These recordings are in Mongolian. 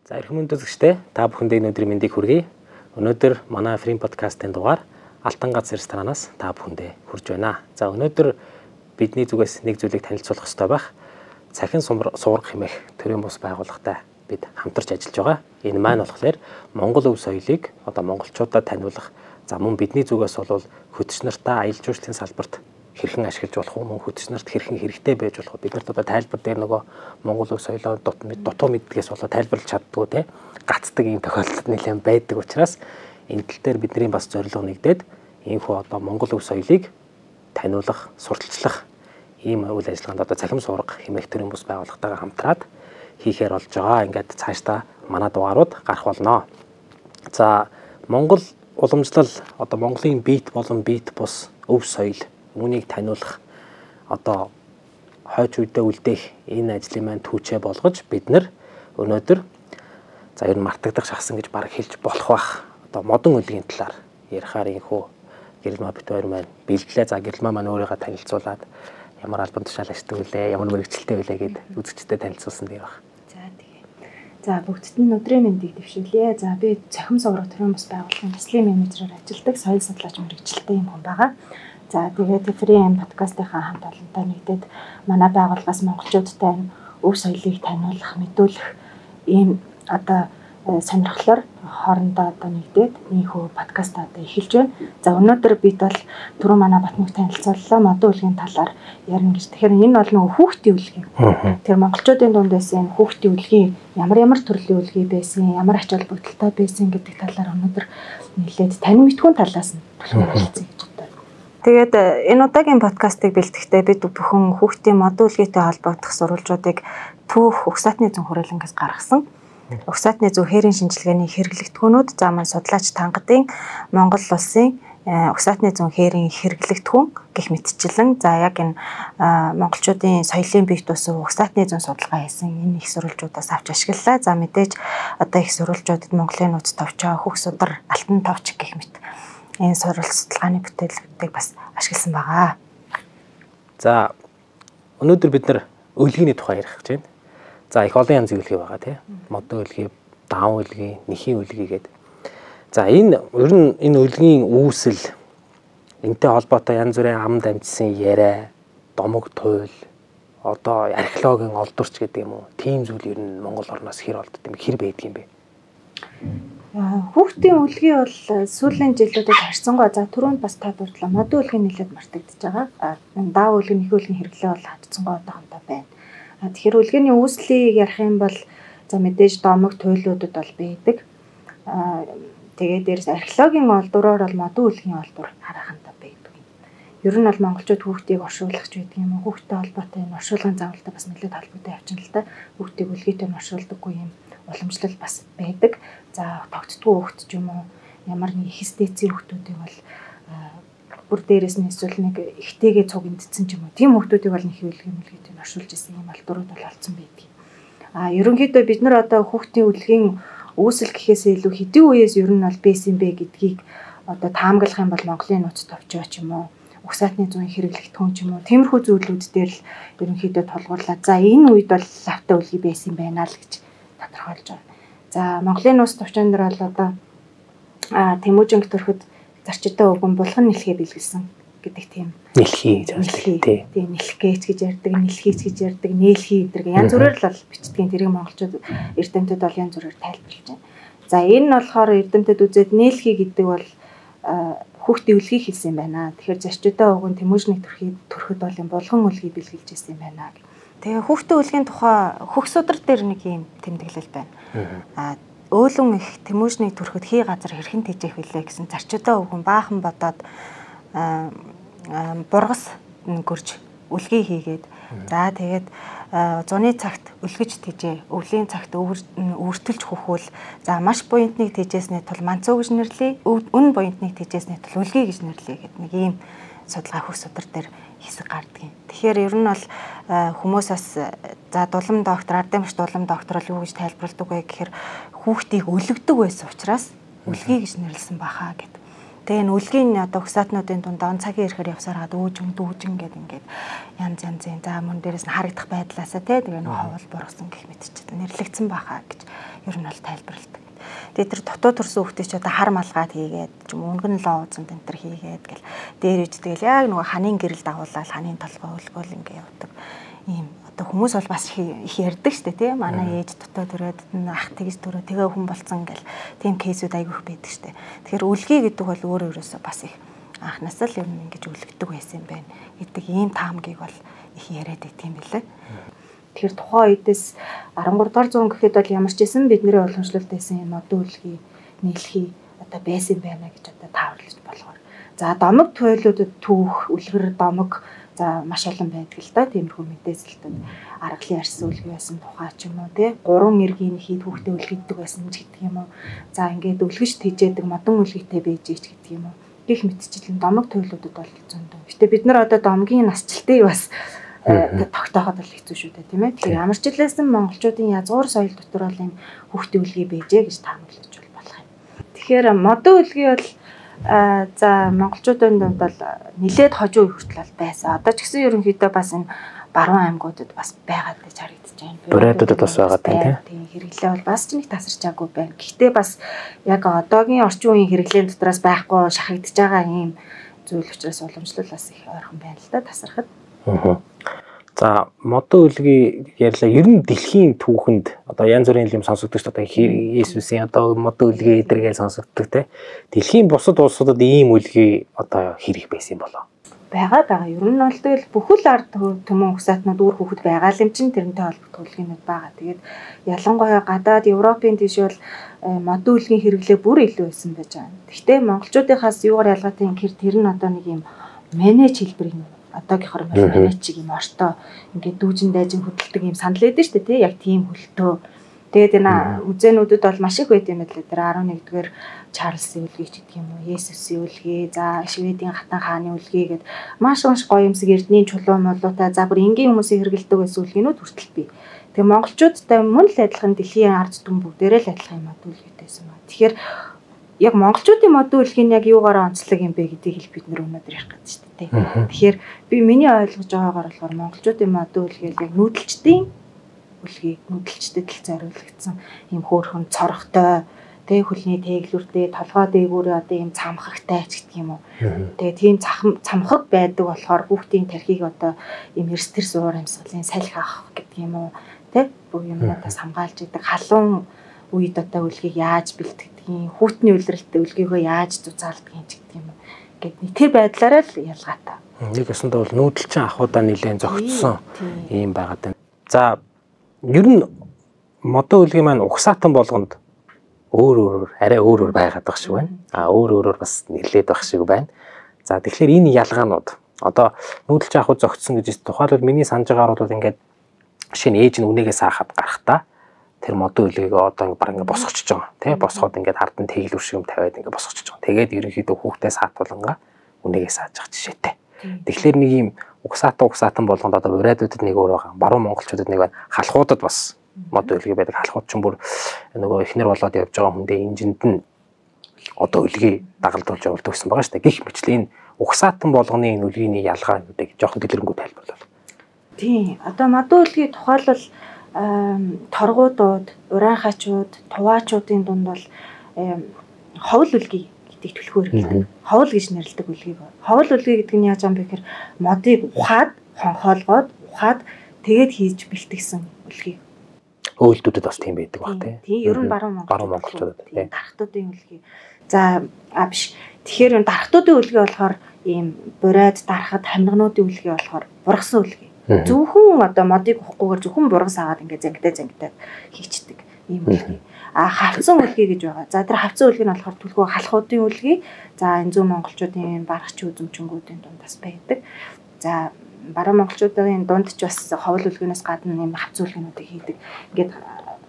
За эрхэм өндөрлөгчтэй та бүхэндээ өнөөдрийн мэндийг хүргэе. Өнөөдөр манай Free podcast-ын дугаар Алтан гац ресторанаас та бүхэндээ хүрж байна. За өнөөдөр бидний зүгээс нэг зүйлийг танилцуулах хэрэгтэй байх. Цахин суурга хэмээх төрийн бус байгууллагатай бид хамтарч ажиллаж байгаа. Энэ маань болохоор Монгол өв соёлыг монголчуудад таниулах. За мөн бидний зүгээс бол хөтөч нартаа аялал жуулчлалын салбарт хэрхэн ашиглаж болох вэ? Мөн хөтөч нарт хэрхэн хэрэгтэй байж болох вэ? Бид нарт тайлбар дээр нөгөө Монгол өв соёлоо дутуу мэддгээс тайлбарлаж чаддгүй те гацдаг юм тохиолдол нэлээд байдаг учраас энэ тал дээр бидний бас зорилго нэгдээд иймхүү Монгол өв соёлыг таниулах, сурталчлах ийм үйл ажиллагаанд цахим суурга хэмээх төрийн бус байгууллагатайгаа хамтраад хийхээр болж байгаа. Ингээд цаашдаа манай дугаарууд гарах болно. За Монгол уламжлал Монголын бит болон бит бус өв соёл үүнийг таниулах хойч үедээ үлдээх энэ ажлын маань түүчээ болгож бид нар өнөөдөр за ер нь мартагдах шахсан гэж баг хэлж болох бах модон үлгийн талаар ярихаар инхүү гэрэлмаа бит хоёр маань бэлдлээ. За гэрэлмаа маань өөрийгөө танилцуулаад ямар албан тушаал ашигтай үлээ, ямар мэрэгчлэлтэй үлээ гэд үзэгчдэд танилцуулсан дээр баг. За тэгээ. За бүгдд нь өдрийн мэндийг дэвшүүлье. За би цахим суурга төрийн бус байгууллагын төслийн менежерээр ажилладаг соёл судлаач мэрэгчлэлтэй юм хүн байгаа. За тэгээд Free podcast-ийнхаа хамт олонтой нэгдээд манай байгууллагаас монголчуудтай өв соёлыг таниулах, мэдүүлэх ийм сонирхлоор хоорондоо нэгдээд ийхүү подкаст эхэлж байна. За өнөөдөр бид бол түрүү манай Батмүг танилцууллаа модон үлгийн талаар ярина гэж. Тэгэхээр энэ бол нөгөө хүүхдийн үлгийн. Тэр монголчуудын дунд байсан энэ хүүхдийн үлгийн ямар төрлийн үлгий байсан, ямар ач холбогдолтой байсан гэдэг талаар өнөөдөр нэлээд танин мэдхүүн талаас нь хэлцгээе гэж боддог. Тэгээд энэ удаагийн подкастыг бэлтгэхдээ бид бүхэн хүүхдийн модон үлгийтэй холбогдох сурвалжуудыг түүх угсаатны зүүн хүрээлэнгээс гаргасан. Угсаатны зүүн хээрийн шинжилгээний хэрэглэгдэхүүнүүд заман судлаач тангадын Монгол улсын угсаатны зүүн хээрийн хэрэглэгдэхүүн гэх мэтчлэн за яг энэ монголчуудын соёлын бит бус угсаатны зүүн судалгаа хийсэн энэ их сурвалжуудаас авч ашиглалаа. За мэдээж их сурвалжуудад Монголын нууц товчоо, хөх судар, алтан товч гэх мэт энэ сурвалж судалгааны бүтээлүүдийг бас ашигласан байгаа. За өнөөдөр бид нар үлгийний тухай ярих гэж байна. За их олон янзын үлгий байгаа тийм. Модон үлгий, даун үлгий, нэхийн үлгий гэдэг. За энэ ер нь энэ үлгийн үүсэл энтэй холбоотой янз бүрийн амд амжсан яриа, домог туйл, археологийн олдворч гэдэг юм уу? Тийм зүйл ер нь Монгол орноос хэр олдд юм бэ? Хэр байдаг юм бэ? Хүүхдийн үлгий бол сүүлийн жилүүдэд харьцангуй за түрүүнд бас та дурдлаа модон үлгий нэлээд мартагдчихж байгаа. Даун үлгий, нэхэн үлгийн хэрэглээ бол хатцсангүй одоохондоо байна. Тэгэхээр үлгээний үүслийг ярих юм бол за мэдээж домог туйлуудад бол байдаг. Тэгээд дээрс археологийн олдвороор бол модон үлгийн олдвор харахантай байдаг. Ер нь бол монголчууд хүүхдийг оршуулах ч байдаг юм уу? Хүүхдтэй холбоотой энэ оршуулгын заавалтай бас нэлээд холбоотой явчихна л та. Хүүхдийг үлгийтэй оршуулдаггүй юм уламжлал бас байдаг. За тогтдгүй хүүхд ч юм уу ямар нэг хистэцийн хүүхдүүдийг бол бүр дээрээс нь эсвэл нэг ихтэйгээ цуг эндсэн ч юм уу. Тийм хүмүүсийг бол нэг үлгийн оршуулж исэн юм алдурууд бол олцсон байдаг. Ерөнхийдөө бид нар хүүхдийн үлгийн үүсэл гэхээс илүү хэдийн үеэс ер нь бол байсан бэ гэдгийг таамаглах юм бол Монголын нууц товчоо ч юм уу, угсаатны зүүн хэрэглэгдэхүүн ч юм уу, тиймэрхүү зүйлүүд дээр л ерөнхийдөө тулгуурлаа. За энэ үед бол лавтай үлгий байсан байна л гэж тодорхойлж байгаа. За Монголын нууц товчоон дээр бол Тэмүүжинг төрөхөд зарчидаа өгөн булган нэлхээ бэлгэлсэн гэдэг тийм нэлхий гэж байна. Тийм нэлхгээч гэж ярьдаг, нэлхийч гэж ярьдаг, нээлхий гэдэг янз бүрээр л бол бичдгийн тэрийг монголчууд эрдэмтэд бол янз бүрээр тайлбарлаж байна. За энэ нь болохоор эрдэмтэд үзээд нээлхий гэдэг бол хүүхдийн үлгийг хэлсэн юм байна. Тэгэхээр зарчидаа өгөн Тэмүүжинг төрөхөд бол юм булган үлгийг бэлгэлж ирсэн юм байна. Тэгээ хүүхдийн үлгийн тухай хөх судар дээр нэг юм тэмдэглэл байна. Өөлөн их Тэмүүжнийг төрөхөд хий газар хэрхэн тэжээх вүлээ гэсэн зарчидаа өгөн баахан бодоод бургас гөрж үлгий хийгээд за тэгээд зуны цагт өлгөж тэжээ, өвлийн цагт өвөртөлж хөхвөл за маш буянтныг тэжээсний тул манцуу гэж нэрлэе, үн буянтныг тэжээсний тул үлгий гэж нэрлэе гэдэг нэг ийм судалгаа хөх судар дээр хэсэг гардаг юм. Тэгэхээр ер нь бол хүмүүсээс за дулам доктор, ардын багш дулам доктор бол юу гэж тайлбарладаг вэ гэхээр хүүхдийг өлгдөг байсан учраас үлгий гэж нэрлсэн бахаа гэд. Тэгээ энэ үлгийн одоо хсаатнуудын дунд он цагийн ирэхээр явсараад өөжин гэдэг ингээд янз янзын за мөн дээрээс нь харагдах байдлаасаа тэгээ нэг ховол бургасан гэх мэт ч нэрлэгдсэн баха гэж ер нь бол тайлбарладаг. Тэгээ тэр дотоод төрсөн хүүхдээ ч одоо хар малгайд хийгээд ч юм өнгөн лоо узанд энэ төр хийгээд гэл дээр үж тэгэл яг нөгөө ханийн гэрэл дагуулаад ханийн толгой өлгөөл ингээд явдаг. Ийм одоо хүмүүс бол бас их ярьдаг штэ тий манай ээж дотоод төрөөд ах тэгж төрөө тэгээ хүн болцсон гэл тийм кейсүүд айгүйх байдаг штэ. Тэгэхээр үлгий гэдэг бол өөрөөсөө бас их анхнаас л юм ингэж үлгдэг байсан юм байна гэдэг ийм таамгийг бол их яриад байт юм билээ. Тэгэхээр тухайн үедээс 13 дугаар зуун гэхэд бол ямар ч байсан бидний уламжлалт байсан юм одоо үлгий нийлхий одоо байсан байна гэж одоо тааварлаж болгоор. За домог туйлуудад түүх үлгэр домог за маш олон байдаг л да тиймэрхүү мэдээсэлтэн аргалын арьс үлгий байсан тухай ч юм уу тий 3 эргийн хийд хүүхдээ үлгийдэг байсан ч гэдэг юм уу за ингээд үлгэж тэжээдэг модон үлгийтэй байжээч гэдэг юм уу гэх мэтчлэн домог туйлуудад бол зөндөө. Гэтэ бид нар одоо домгийн насжилтыг бас тогтооход бол хэцүү шүү дээ тийм ээ. Тэгэхээр ямар ч хэлсэн монголчуудын язгуур соёл дотор бол юм хүүхдээ үлгий байжээ гэж таамаглаж болох юм. Тэгэхээр модон үлгий бол за монголчуудын дунд бол нилээд хожуу хүртэл байсан. Одоо ч гэсэн ерөнхийдөө бас энэ баруун аймагуудад бас байгаад гэж харагдаж байна. Бурайдуудад бас байгаа тийм хэрэглээ бол бас ч нэг тасарчаагүй байна. Гэхдээ бас яг одоогийн орчин үеийн хэрэглээний дотроос байхгүй шахагдж байгаа ийм зүйл учраас уламжлал бас их ойрхон байна л да тасархад. За модон үлгий ярьлаа. Ер нь дэлхийн түүхэнд одоо янз бүрийн юм сонсогддог шүү дээ. Иесусийн одоо модон үлгий эдэргээл сонсогддог те. Дэлхийн бусад улсуудад ийм үлгий одоо хэрэг байсан болоо. Байгаа. Ер нь бол тэгэл бүхэл ард түмэн угсаатнууд үр хөвгөд байгаа л юм чинь тэрнтэй холбогдох үлгийнүүд байгаа. Тэгээд ялангуяа гадаад Европын тийш бол модон үлгийн хэрэглээ бүр илүү байсан байж байгаа. Гэхдээ монголчуудынхаас юугаар ялгаатай юм гэхээр тэр нь одоо нэг юм менеж хэлбэр юм. Одоогийнхоор менеж чиг юм ортой ингээд дүүжин дайжин хөдөлдөг юм санал өгдөө шүү дээ тий яг тийм хөлтөө. Тэгээд энэ үзэнүүдэд бол маш их байт юм байна лээ. Тэр 11-р Чарльзын үлгий ч гэдэг юм уу, Есүсийн үлгий, за Шведийн хатан хааны үлгий гэд маш гоё юмсэг эрдний чулуу молуутай за бүр энгийн хүмүүсийн хэрэгэлдэг байсан үлгийнүүд хүртэл бий. Тэгээ монголчуудтай мөн л адилхан дэлхийн ард түмэн бүгдээрээ л адилхан юм үлгийтэйсэн ба. Тэгэхээр яг монголчуудын модон үлгийн яг юугаараа онцлог юм бэ гэдгийг бид нар өнөөдөр ярих гэж шүү дээ. Тэгэхээр би миний ойлгож байгаагаар болохоор монголчуудын модон үлгийг яг нүүдэлчдийн үлгийг нүүдэлчдэд л зориулагдсан ийм хөөрхөн цорхтой тэг хөлний тэглүүртэй толгой дээгүүрээ одоо ийм цамхагтай ч гэдэг юм уу. Тэгээ тийм цамхаг байдаг болохоор хүүхдийн тархийг одоо ийм эрс төр суур амьсгалын салхи авах гэдэг юм уу. Тэг бүх юмнаас хамгаалж идэг халуун үед одоо үлгийг яаж бэлтгэдгийг, хүүтний үлрэлттэй үлгийгөө яаж зузаалдгийг ч гэдэг юм уу. Гэт тэр байдлаараа л ялгаатай. Нэг өсөндөө бол нүүдэлчин ахуудаа нэлээд зөгцсөн ийм байгаад байна. За ер нь модон үлгийн маань угсаатан болгонд арай өөр байгаад байх шиг байна. Өөрөөр бас нэлээд байх шиг байна. За тэгэхээр энэ ялгаанууд одоо нүүдэлчин ахуй зөгцсөн гэж тухайлбал миний санаж байгаагаар бол ингээд шинэ ээж нь үнээгээ саахад гарахтаа тэр модон үлгийг одоо баг ингээд босгочж байгаа. Тэ босгоод ингээд хард нь тэглүүр шиг юм тавиад ингээд босгочж байгаа. Тэгээд ерөнхийдөө хүүхдээ саатуулангаа үнээгээ сааж явах жишээтэй. Тэгэхээр нэг юм угсаатан болгонд одоо урайдуудад нэг өөр байгаа. Баруун монголчуудад нэг байна. Халахуудад бас модон үлгий байдаг. Халахууд ч бүр нөгөө ихнэр болоод явж байгаа хүндээ инжинд нь одоо үлгий дагалдуулж явуулдаг гэсэн байгаа шүү дээ. Гэх мэтлээ энэ угсаатан болгоны энэ үлгийний ялгаануудыг жоохон дэлгэрэнгүй тайлбарлал. Тийм. Одоо модон үлгийн тухайлбал торгуудууд, урайхачууд, туваачуудын дунд бол ховл үлгий гэдэг түлхүүр гэдэг. Ховл гэж нэрлэдэг үлгий. Ховл үлгий гэдэг нь яаж юм бэ гэхээр модыг ухаад, хонхоолгоод, ухаад тэгээд хийж бэлтгэсэн үлгий. Өөлдүүдэд бас тийм байдаг баг тийм. Ер нь баруун монголчуудад тийм дархтуудын үлгий. За биш. Тэгэхээр дархтуудын үлгий болохоор ийм бурайд дарахад хамнагнуудын үлгий болохоор бургасан үлгий. Зөвхөн одоо модыг ухахгүйгээр зөвхөн бургас аваад ингээ зангитай хийчдэг ийм үлгий. Хавцсан үлгий гэж байгаа. За тэр хавцсан үлгий нь болохоор түлхүү халахуудын үлгий. За энэ зүүн монголчуудын барахч үзэмчнгүүдийн дунд бас байдаг. За баруун монголчуудын дунд ч бас ховл үлгийнээс гадна юм хавцсан үлгийнүүдийг хийдэг. Ингээд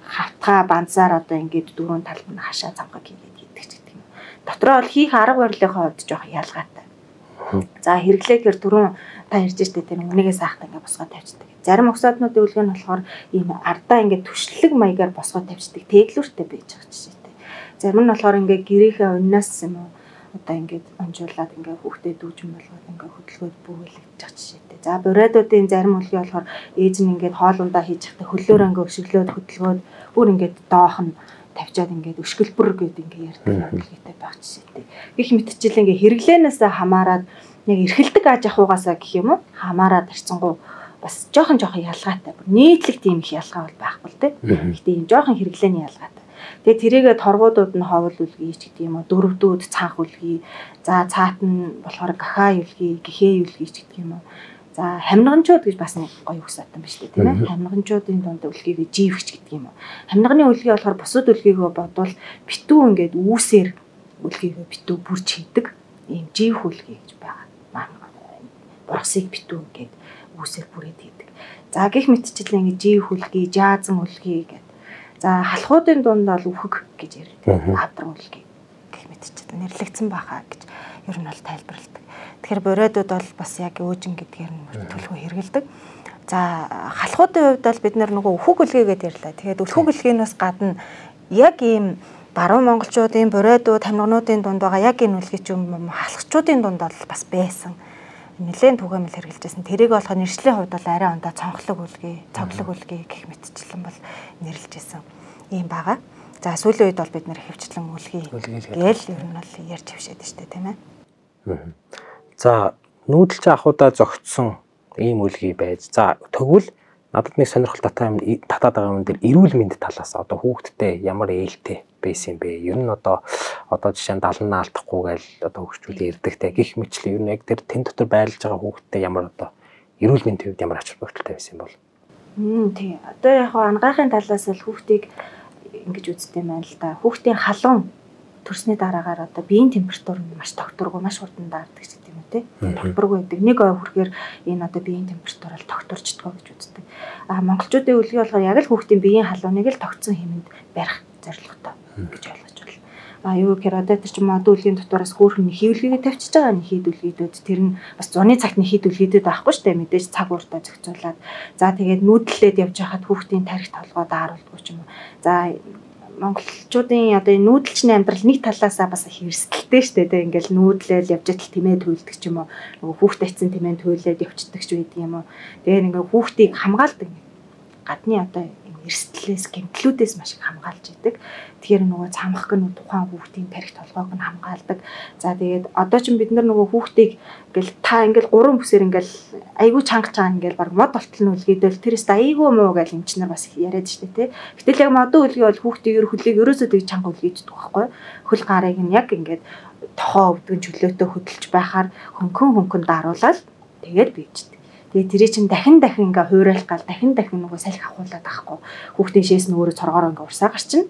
хавтгаа банцаар одоо ингээд дөрөв талд нь хашаа цамхаг хийгээд хийдэг ч гэдэг юм. Дотроо бол хийх арга барилын хувьд жоох ялгаатай. За хэрэглээгээр түрүүн та ярьж штэ тэр үнэгээ саахтаа ингээ босгоод тавьчихдаг. Зарим угсаатнуудын үлгий нь болохоор ийм ардаа ингээ түшлэг маягаар босгоод тавьчихдаг. Тэглүүртэй байж байгаа жишээтэй. Зарим нь болохоор ингээ гэрийнхээ уннаас юм уу одоо ингээд онжуулаад ингээд хүүхдээ дүүжин болгоод ингээд хөдөлгөөд бүгэлэгдэж байгаа жишээтэй. За буриадуудын зарим үлгий болохоор ээж нь ингээд хоолундаа хийж захтай хөлөөр ингээд өшөглөөд хөдөлгөөд бүр ингээд доох нь тавьчаад ингээд өшгөлбөр гэдэг ингээд ярьдаг үлгийтэй байх жишээтэй. Гэх мэтчил ингээд хэрэглээнээс хамаарад яг эрхэлдэг аж ахуйгаасаа гэх юм уу хамаарад харьцангуй бас жоохон ялгаатай. Нийтлэг тийм их ялгаа бол байхгүй л дээ. Гэхдээ энэ жоохон хэрэглээний ялгаатай. Тэгээ тэрийгээ торгуудууд нь ховол үлгий ч гэдэг юм уу, дөрвдүүд цанх үлгий, за цаат нь болохоор гахаа үлгий, гэхээ үлгий ч гэдэг юм уу. За хамнганчууд гэж бас нэг гоё үгсаатан байна шүү дээ, тийм ээ. Хамнганчуудын дунд үлгийгээ живч гэдэг юм уу. Хамнганы үлгий болохоор бусад үлгийгөө бодвол битүү ингээд үүсээр үлгийгээ битүү бүрж хийдэг. Ийм живх үлгий гэж байгаа. Боргосыг битүү ингээд үүсээр бүрээд хийдэг. За гих мэтчил ингээд живх үлгий, жаазан үлгий гэдэг. За халахуудын дунд бол үхэг гэж ярьдаг. Авдран үлгий гэх мэтчил нэрлэгдсэн баха гэж ер нь бол тайлбарладаг. Тэгэхээр буриадууд бол бас яг өөжин гэдгээр нь төлхөө хэрэгэлдэг. За халахуудын хувьд бол бид нөгөө үхэг үлгий гэдээ ярьлаа. Тэгээд үхэг үлгийнээс гадна яг ийм баруун монголчуудын буриадууд хамнгануудын дунд байгаа яг энэ үлгий ч юм халахчуудын дунд бол бас байсан. Нэлээд түгээмэл хэрэгжилжсэн. Тэрийг болохоор нэршлийн хувьд бол арай ондоо цонхлог үлгий, цоглог үлгий гэх мэтчлэн бол нэрлэжсэн юм байгаа. За сүүлийн үед бол бид нэр хөвчлэн үлгий гээл ер нь бол ярьж хвшээд штэ тийм ээ. За нүүдэлч ахуудаа зогтсон ийм үлгий байж. За тэгвэл надад нэг сонирхол татаад байгаа юм дээр эрүүл мэнд талаас одоо хүүхдтэй ямар ээлтэй байсан бэ? Ер нь одоо жишээ нь 70 наалтахгүй гээл одоо хөгжчүүд ярдагтай гих мэтлээ ер нь яг тэр тэн дотор байлж байгаа хүүхдтэй ямар одоо эрүүл мэндийн хувьд ямар ач холбогдолтой байсан юм бол? Тий. Одоо яг ангаахын талаас л хүүхдийг ингэж үздэг юм байна л да. Хүүхдийн халуун төрсний дараагаар одоо биеийн температур нь маш тогтворгүй, маш хурдан даардаг гэдэг юм уу те. Тогтворгүй байдаг. Нэг ой хүрэхээр энэ одоо биеийн температур бол тогтворчдгоо гэж үздэг. Монголчуудын үлгий болохоор яг л хүүхдийн биеийн халууныг л тогтсон хэмэнд барих зорилготой гэж ойлгож байна. Юу гэхээр одоо тэр чинь мод үлгийн дотоороос хөөрхөн хийвлэгээ тавьчихж байгаа нэг хийдүлгийдүүд тэр нь бас зуны цагт нэг хийдүлгийдүүд байхгүй шүү дээ. Мэдээж цаг ууртаа зохицуулаад за тэгээд нүүдлээд явж хахад хүүхдийн тарих толгой дааруулдаг ч юм уу. За монголчуудын одоо энэ нүүдэлчний амьдрал нэг талаасаа бас их эрсдэлтэй шүү дээ. Ингээл нүүдлээл явж идэл тэмээ төлдөг ч юм уу. Нөгөө хүүхд тайцсан тэмээ төлөөд явчихдаг ч байдаг юм уу. Тэгээд ингээ хүүхдийг хамгаалдаг. Гадны одоо эрсдлээс гэмтлүүдээс маш их хамгаалж идэг. Тэгэхээр нөгөө цамхаг нь тухайн хүүхдийн тарих толгойг нь хамгаалдаг. За тэгээд одоо ч бид нар нөгөө хүүхдийг ингээл та ингээл 3 бүсээр ингээл айгүй чангаж байгаа ингээл баг мод болтол нь үлгээдэл тэрээс айгүй муу гэж эмчнэр бас яриад штэ тий. Гэтэл яг модон үлгээ бол хүүхдийн хөлийг ерөөсөө тэг чанга үлгийддэг байхгүй. Хөл гарыг нь яг ингээд тохоо өвдгөн чөлөөтэй хөдөлж байхаар хөнгөн даруулаад тэгээд бийждэг. Тэгээ тэрий чин дахин ингээ хуурайлах гал дахин нөгөө салхи авахуулаад байхгүй. Хүүхдийн шээс нь өөрөө цоргоор ингээ урсаа гарчин.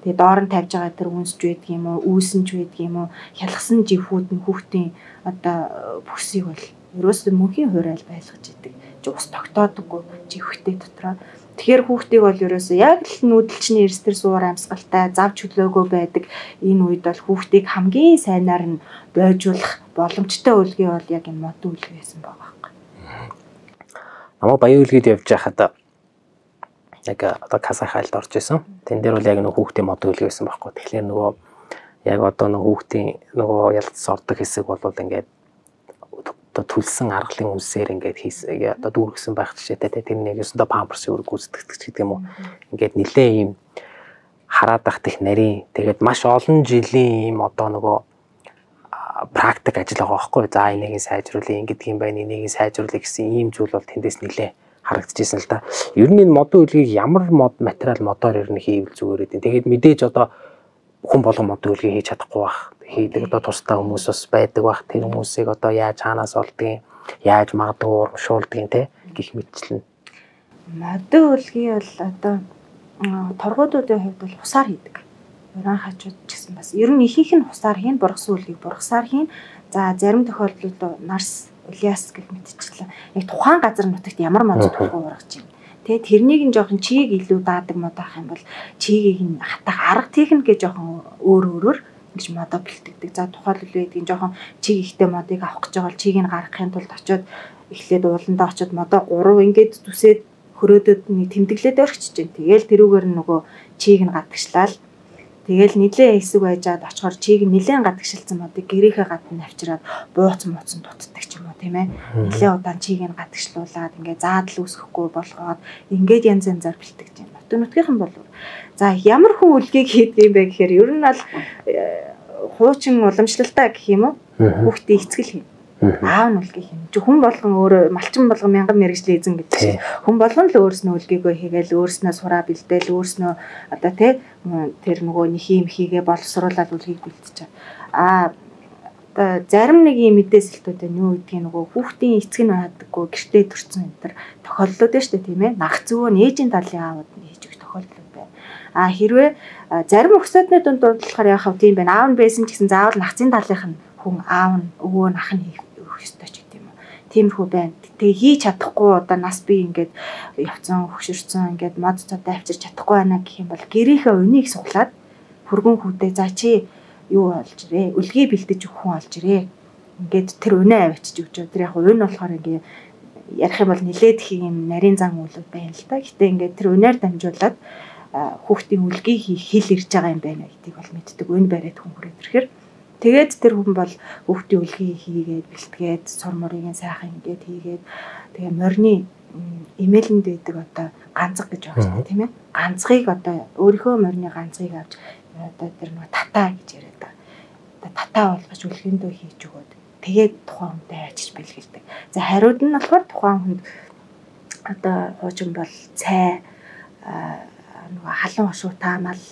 Тэгээ доор нь тавьж байгаа тэр үнсж байдаг юм уу, үүсэнж байдаг юм уу, хялгсан живхүүд нь хүүхдийн одоо бүсийг бол ерөөсөө мөнхийн хурайл байлгаж идэг. Ус тогтоодоггүй живхтэй дотроо. Тэгэхээр хүүхдийг бол ерөөсөө яг л нүүдэлчний эрсдэр суур амьсгалтай, зав чөлөөгөө байдаг. Энэ үед бол хүүхдийг хамгийн сайнаар нь бойжуулах боломжтой үлгий бол яг энэ модон үлгий байсан байгаа. Намайг баян үлгийд явж байхад яг одоо каса хайлд орж исэн. Тэн дээр бол яг нэг хүүхдийн мод үлгий байсан байхгүй. Тэгэхээр нөгөө яг одоо нэг хүүхдийн нөгөө ялц ордог хэсэг бол ингээд одоо төлсөн аргалын үнсээр ингээд одоо дүүргэсэн байх жишээтэй. Тэр нэг өсөндө памперсын үрг гүйцэтгэдэг гэдэг юм уу. Ингээд нилээ ийм хараад бах тех нарийн тэгээд маш олон жилийн ийм одоо нөгөө практик ажил байгаа байхгүй. За энийг сайжруулъя гэдэг юм байна. Энийг сайжруулъя гэсэн ийм зүйл бол тэндээс нэлээ харагдчихсэн л да. Ер нь энэ модон үлгийг ямар материал модоор ер нь хийвэл зүгээр гэдэг. Тэгээд мэдээж одоо хүн болгон модон үлгийг хийж чадахгүй байх. Хийдэг одоо тусдаа хүмүүс бас байдаг байх. Тэр хүмүүсийг одоо яаж хаанаас олдгийг, яаж магадгүй урамшуулдгийг те гих мэтчлэн. Модон үлгийг бол одоо торгуудуудын хувьд бол хусаар хийдэг. Уран хажууд ч гэсэн бас ер нь ихийнх нь хусаар хийн, бургасан үлгийг бургасаар хийн. За зарим тохиолдолд нарс, улиас гэх мэтчлэн яг тухайн газар нутагт ямар мод төлхөө ургаж байна. Тэгээд тэрнийг нь жоохон чийг илүү даадаг мод авах юм бол чигийг нь хатах арга техник гэж жоохон өөрөөр ингэж модоо бэлтгэдэг. За тухайлбал гэдгийг жоохон чиг ихтэй модыг авах гэж байгаа бол чийг нь гаргахын тулд очиод эхлээд ууландаа очиод модоо 3 ингэж зүсээд хөрөөдөд нэг тэмдэглээд өргөчж जैन. Тэгээл тэрүүгээр нь нөгөө чийг нь гадагшлал. Тэгэл нилээ хэсэг байжгаад очихоор чийг нилээн гадагшилсан модыг гэрээхээ гадна авчираад бууцсан дутдаг ч юм уу тийм ээ. Нилээ удаан чийг нь гадагшлуулаад ингээд заадал үүсгэхгүй болгоод ингээд янз янзаар бэлтгэж байна. Нутгийнхан бол за ямар хүн үлгийг хийдэг юм бэ гэхээр ер нь бол хуучин уламжлалтай гэх юм уу? Хүүхдийн эцгэл хийнэ. Аав нь үлгийг хийнэ. Хүн болгон өөрөө малчин болгон мянган мэрэгжлийн эзэн гэдэг чинь. Хүн болгон л өөрснөө үлгийгөө хийгээл өөрснөө сураа бэлдээл өөрснөө одоо тэр нөгөө нэг юм хийгээ боловсруулаад үлгийг бэлтэж байгаа. Зарим нэг юм мэдээсэлтүүд нь юу гэдгийг нөгөө хүүхдийн эцэг нь хадаггүй гэртээ төрсэн энэ төр тохиолдлууд нь шүү дээ тийм ээ. Нах зөвөө ээжийн талын аавууд нь хийж өгөх тохиолдол байна. Хэрвээ зарим өксөдны дунд болохоор яах вэ тийм байна. Аав нь байсан ч гэсэн заавал нахцын талынх нь хүн аав нь өвөө нь ах нь хийх ёстой ч гэдэм юм. Тиймэрхүү байна. Тэгээ хийж чадахгүй одоо нас би ингээд явцсан хөшөрцөн ингээд мод цодоо авчирч чадахгүй байна гэх юм бол гэрийнхээ өнийг суглаад хөргөн хүүдээ за чи юу олж ирээ үлгий бэлдэж өгөх хүн олж ирээ. Ингээд тэр өнөө авчиж өгч. Тэр яг өнө болохоор ингээд ярих юм бол нилээд их юм нарийн зан үйлүүд байна л да. Гэтэ ингээд тэр өнөөр дамжуулаад хүүхдийн үлгий хэл ирж байгаа юм байна гэдгийг бол мэддэг. Өн бариад хүн хүрээд ирэхээр тэгээд тэр хүн бол хүүхдийн үлгий хийгээд бэлтгээд сур мурыг сайхан ингээд хийгээд тэгээ морины имэйлэнд байдаг одоо ганцэг гэж байгаа шүү дээ тийм ээ. Ганцгийг одоо өөрийнхөө морины ганцгийг авч одоо тэр нэг татаа гэж яриад байгаа. Одоо татаа болгож үлгэндөө хийж өгөөд тэгээд тухайн хүнтэй ажиж бэлгэлдэг. За хариуд нь болохоор тухайн хүнд одоо хуучин бол цай нөгөө халуун хошуу таамал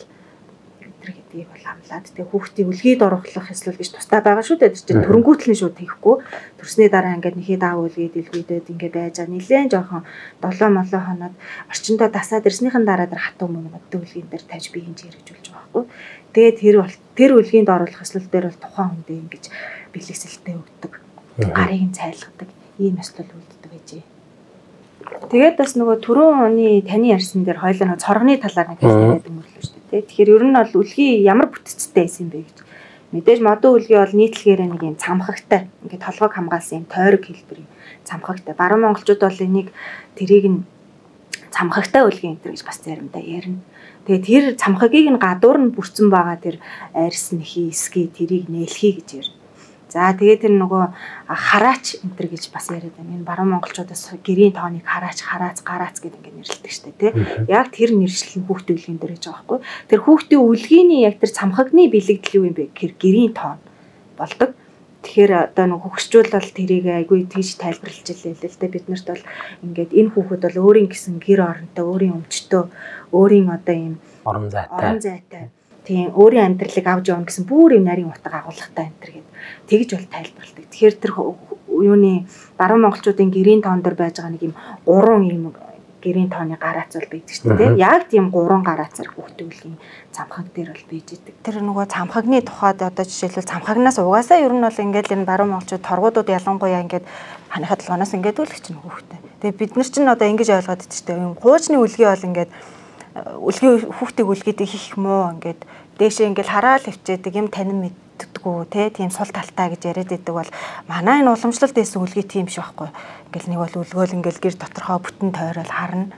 гэдгийг бол амлаад тэгээ хүүхдийн үлгийг оруулах ёслол гэж тустай байгаа шүү дээ. Тэр чинь төрөнгүүтлэн шууд хийхгүй. Төрсний дараа ингээд нэхэд аав үлгээд илгүйдээд ингээд байж байгаа. Нилээн жоохон 7 молоо хоноод орчиндөө тасаад ирснийхэн дараа тэр хатуу мөнгөд үлгийн дээр тавьж би хинж хэрэгжүүлж байгаа байхгүй. Тэгээд тэр үлгийнд оруулах ёслол дээр бол тухайн хүндээ ингэж бэлгэсэлтэй өгдөг. Гарыг нь цайлгадаг. Ийм ёслол үлддэг гэжээ. Тэгээд бас нөгөө түрүүн оны таны ярьсан дээр хоёлаа нөгөө цоргоны талаар нэг хэлээд өнгөрлөө шүү дээ. Тэгэхээр ер нь бол үлгий ямар бүтцтэй байсан бэ гэж. Мэдээж модон үлгий бол нийтлэгээр нэг юм цамхагтай. Ингээд толгойг хамгаалсан юм тойрог хэлбэрийн цамхагтай. Баруун монголчууд бол энийг тэрийг нь цамхагтай үлгий энэ гэж бас заримдаа ярина. Тэгээд тэр цамхагийг нь гадуур нь бүрдсэн байгаа тэр арьс нь хийсгий тэрийг нээлхий гэж ярина. За тэгээд тэр нөгөө хараач энтер гэж бас яриад байна. Энэ баруун монголчуудаас гэрийн тооныг хараач, гараац гэдэг ингээд нэрлэдэг шүү дээ, тий. Яг тэр нэршил нь хүүхдийн үлгийн дээр гэж байгаа байхгүй. Тэр хүүхдийн үлгийний яг тэр цамхагны бэлэгдэл юу юм бэ гэхээр гэрийн тоон болдог. Тэгэхээр одоо нөгөө хөгшчүүл бол тэрийг айгүй тийж тайлбарлаж илээ л дээ. Бид нарт бол ингээд энэ хүүхэд бол өөрийн гэсэн гэр оронтой, өөрийн өмчтөө, өөрийн одоо ийм орон зайтай. Тийм өөрийн амьдралыг авч явна гэсэн бүр юм нарийн утга агуулгатай энэ төр гэдэг. Тэгж бол тайлбарладаг. Тэгэхээр тэр юуны баруун монголчуудын гэрийн тоон дээр байж байгаа нэг юм 3 юм гэрийн тооны гараац бол байдаг шүү дээ. Яг тийм 3 гараацаар хүүхдийн үлгийн цамхаг дээр бол бийж идэг. Тэр нөгөө цамхагны тухайд одоо жишээлбэл цамхагнаас угаасаа ер нь бол ингээд энэ баруун монголчууд торгуудууд ялангуяа ингээд ханихад толгоноос ингээд үлгэж чинь хүүхдээ. Тэгээ бид нар чинь одоо ингэж ойлгоод идэж шүү дээ. Юм хуучны үлгий бол ингээд үлгийн хүүхдийн үлгийдээ хийх муу ингээд дээшээ ингээл хараал хөвчээдэг юм танин мэддэггүй тийм сул талтай гэж яриад байдаг бол манай энэ уламжлалт дэсэн үлгий тийм биш байхгүй. Ингээл нэг бол үлгөөл ингээл гэр доторхоо бүтэн тойрол харна.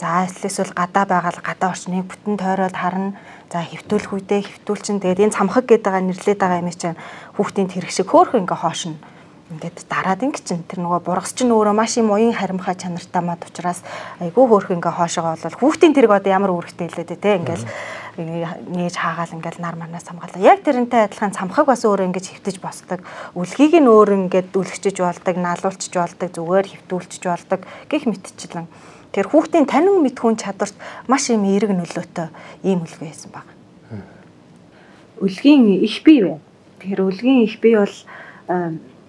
За эсвэл гадаа байгаа л гадаа орчныг бүтэн тойрол харна. За хэвтүүлэх үедээ хэвтүүлчин тэгээд энэ цамхаг гэдэг байгаа нэрлээд байгаа юм чинь хүүхдийн тэрэг шиг хөөхөн ингээ хоошно. Ингээд дараад ингэ чинь тэр нөгөө бургас чинь өөрөө маш юм уян харимхай чанартай мод учраас айгүй хөөх ингээ хоошоогоо бол хүүхдийн тэрэг одоо ямар үүрэгтэй хэлээд те ингээл нээж хаагаал ингээл нар манаас хамгаалаа. Яг тэрнтэй адилхан цамхаг бас өөрөө ингэж хөвтөж босдог. Үлгийг нь өөр ингээд үлгчиж болдог, наалуулчиж болдог, зүгээр хөвтүүлчиж болдог гэх мэтчлэн. Тэр хүүхдийн танин мэдхүүн чадварт маш юм эерэг нөлөөтэй ийм үлгүй байсан баг. Үлгийн их бий байна. Тэгэхээр үлгийн их бий бол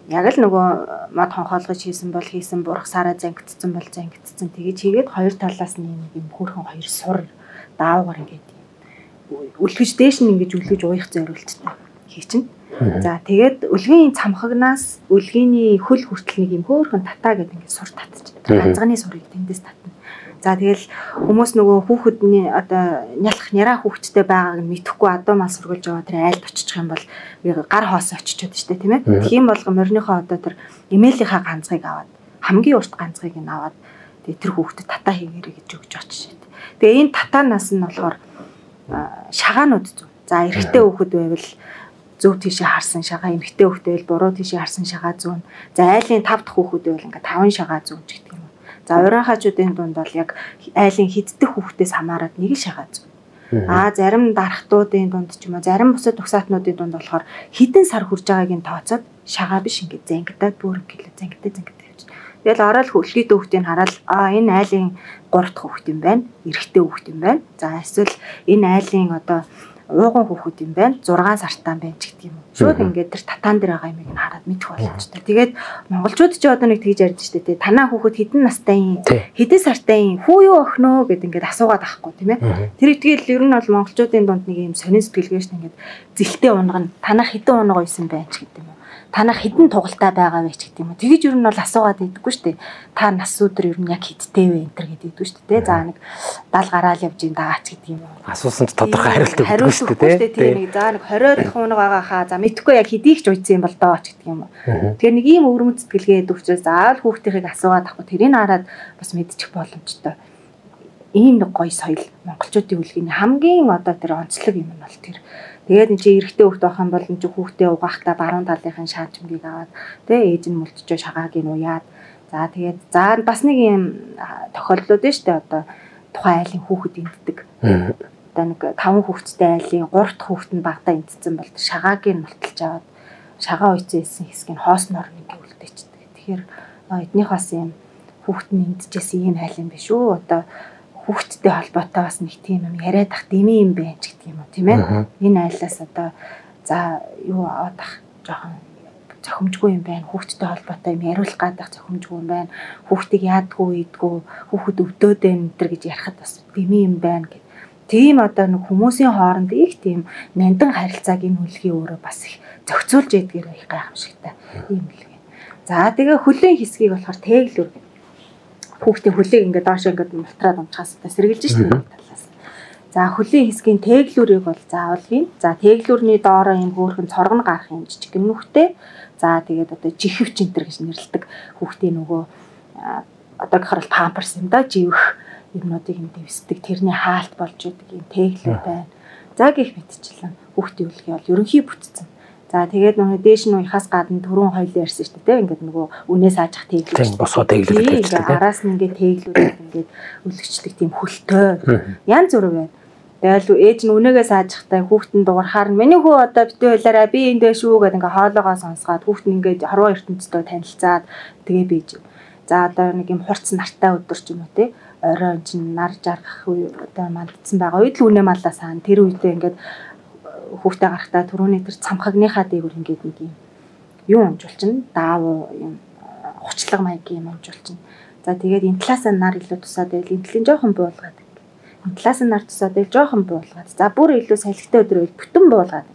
яг л нөгөө мод хонхоолгож хийсэн бол хийсэн, бургасаараа зангидсан бол зангидсан. Тэгэж хийгээд хоёр талаас нь юм хөөрхөн хоёр сур даавгаар ингээд үлгэж дээш нь ингэж үлгэж уух зориулттай хийчин. За тэгээд үлгийн цамхагнаас үлгийний хөл хүртэл нэг юм хөөрхөн татаа гэдэг ингээд сур татчих. Ганцганы сурыг тэндээс татна. За тэгэл хүмүүс нөгөө хүүхэдний одоо няраа хүүхэдтэй байгааг нь мэдэхгүй адуу мал сургуулж яваа тэр айлд очих юм бол гар хоос очичод штэ тийм ээ. Тийм болгоо морныхоо одоо тэр имэйлийнхаа ганцгийг аваад хамгийн урт ганцгийг нь аваад тэгээ тэр хүүхдэд татаа хийгээрэй гэж өгч очиж шээ. Тэгээ энэ татаанаас нь болохоор шагаанууд зүү. За эрэгтэй хүүхэд байвал зөв тийшээ харсан шагаа, эмэгтэй хүүхэд байвал буруу тийшээ харсан шагаа зүүн. За айлын 5 дахь хүүхэд байвал ингээд 5 шагаа зүүн ч гэдэг юм. За урайхаачуудын дунд бол яг айлын хиддэх хүүхдээс хамаарат нэг шагаа зүүн. Зарим дарахтуудын дунд ч юм уу, зарим бусад угсаатнуудын дунд болохоор хідэн сар хүрж байгааг нь тооцоод шагаа биш ингээд зангидаад бүр ингээд зангидаад явж. Тэгэл ороод хөлгий дүүхтийг хараад энэ айлын 3 дахь хүүхэд юм байна, эрэгтэй хүүхэд юм байна. За эсвэл энэ айлын одоо ууган хүүхэд юм байна, 6 сартаа байна ч гэдэг юм уу. Шууд ингээд тэр татаан дээр байгаа юмыг нь хараад мэдэх боломжтой. Тэгээд монголчууд ч одоо нэг тэгж ярьж штэ тий. Танаа хүүхэд хэдэн настай юм, хэдэн сартай юм, хүү юу охиноо гэд ингээд асуугаад ахгүй тийм ээ. Тэр итгэл ер нь бол монголчуудын дунд нэг юм сонин сэтгэлгээ штэ ингээд зэлтэй унгана. Танаа хэдэн унгаа байсан байж ч гэдэг юм уу. Танах хэдэн тугалтай байгаа вэ ч гэдэг юм уу. Тэгэж ер нь бол асуугаад идэггүй шүү дээ. Та нас өдөр ер нь яг хэдтэй вэ энэ төр гэдэг идэггүй шүү дээ. За нэг 70 гараал явж ин даач гэдэг юм уу. Асуусан ч тодорхой хариулт өгөхгүй шүү дээ. Тийм нэг за нэг 20 дахь унаг байгаа хаа. За мэдхгүй яг хэдийх ч уйдсан юм бол доо ч гэдэг юм уу. Тэгэхээр нэг ийм өвөрмөц сэтгэлгээ өгчөөс заавал хүүхдийнхийг асуугаад авахгүй тэрийг хараад бас мэдчих боломжтой. Ийм нэг гоё соёл монголчуудын үлгэний хамгийн одоо тэр онцлог юм нь бол тэр. Тэгээд энэ чи эрэгтэй хүүхд байх юм бол энэ чи хүүхдээ угаахтаа баруун талынхын шаажмгийг аваад тэгээ ээж нь мөлтчөө шагааг нь уяад за тэгээд за бас нэг юм тохиолдлууд нь штэ одоо тухайн айлын хүүхэд энддэг. Одоо нэг 5 хүүхэдтэй айлын 3 дахь хүүхэд нь багтаа эндсэн бол шагааг нь мөлтөлж аваад шагаа уйцсан хэсгийг хоосноор ингээ үлдээчдэг. Тэгэхээр эднийх бас юм хүүхэд нь эндчихсэн ийм айл юм биш үү? Одоо хүүхдтэй холбоотой бас нэг тийм юм яриад ах дэмий юм байна ч гэдэг юм уу тийм ээ. Энэ айлаас одоо за юу авах жоохон зохимжгүй юм байна. Хүүхдтэй холбоотой юм яриулах гадах зохимжгүй юм байна. Хүүхдийг яадгүй идгүй, хүүхэд өвдөөд байна энэ гэж ярихад бас дэмий юм байна гэх. Тийм одоо нэг хүмүүсийн хооронд их тийм нандин харилцааг энэ хүлгийн өөрөө бас их зохицуулж ядгээр их гайхамшигтай юм үлгэн. За тэгээ хөлийн хэсгийг болохоор тэглүр хүүхдийн хөлийг ингээд доош ингээд мултраад унчхаас сэргэлж штеп талаас. За хөлийн хэсгийн тэглүүрийг бол заавал хийн. За тэглүүрний доороо юм хөөрхөн цоргон гарах юм жижигэн нүхтэй. За тэгээд одоо жихвч энтер гэж нэрлэдэг хүүхдийн нөгөө одоо гэхэр памперс юм да живэх юмнуудыг юм дэвсдэг тэрний хаалт болж идэг юм тэглүүр байна. За гих мэдчихлээ. Хүүхдийн үлгий бол ерөнхий бүтцэн. За тэгээд нөгөө дээш нь уяхаас гадна түрүүн хоёлоо ярьсан шүү дээ. Ингээд нөгөө үнээс аажих тэглүүд. Босоо тэглүүд гэж тийм. Араас нь ингээд тэглүүд ингээд өлгчдөг тийм хөлтэй. Янз бүр байна. Тэгэл ээж нь үнээс аажихтай хүүхдэн дуурхаар нь миний хүү одоо битүү хэлээрээ би эндээ шүү гэдэг ингээд хоолоогоо сонсгаад хүүхд нь ингээд харуу ертөнцтэй танилцаад тэгээ бийж. За одоо нэг юм хурц нартай өдөр ч юм уу те. Орой чинь нар жаргах үе одоо мандсан байгаа үед л үнэ маллаа саана тэр үедээ ингээд хүүхдээ гарахтаа түрүүний тэр цамхагныхаа дээгүүр ингээд нэг юм юу амжуулчин даав юм хучлаг маягийн юм амжуулчин. За тэгээд энэ талаасаа нар илүү тусаад байл энэ талын жоохон буулгаад. Энэ талаас нь нар тусаад байл жоохон буулгаад. За бүр илүү салхитай өдөр байл бүтэн буулгаад.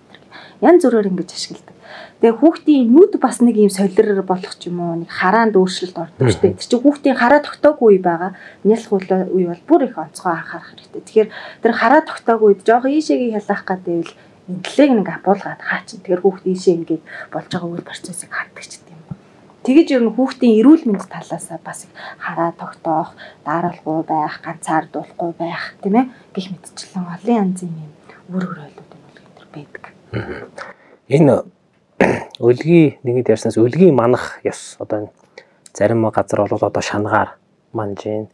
Янз бүрээр ингэж ашигладаг. Тэгээ хүүхдийн нүд бас нэг юм солирор болох ч юм уу нэг хараанд өөрчлөлт ордог шүү дээ. Тэр чинь хүүхдийн хараа тогтоогүй үе байгаа. Нялх үе бол бүр их онцгой анхаарах хэрэгтэй. Тэгэхээр тэр хараа тогтоогүй үед жоохон ийшээгээ хялах гэдэг нь энэ талыг нэг апуулгаад хаачин. Тэгэхээр хүүхд ийшээ ингээд болж байгаа үйл процессыг хаддаг ч гэдэг юм. Тэгэж ер нь хүүхдийн эрүүл мэнд талаасаа бас их хараа тогтоох, даралгүй байх, ганцаардуулахгүй байх, тийм ээ? Гэх мэтчлэн олон янзын юм үүрэг ойлголтууд энэ бол байдаг. Энэ өлгийн нэгэд ярьснаас өлгийн манах ёс одоо зарим газар бол одоо шангаар манжин.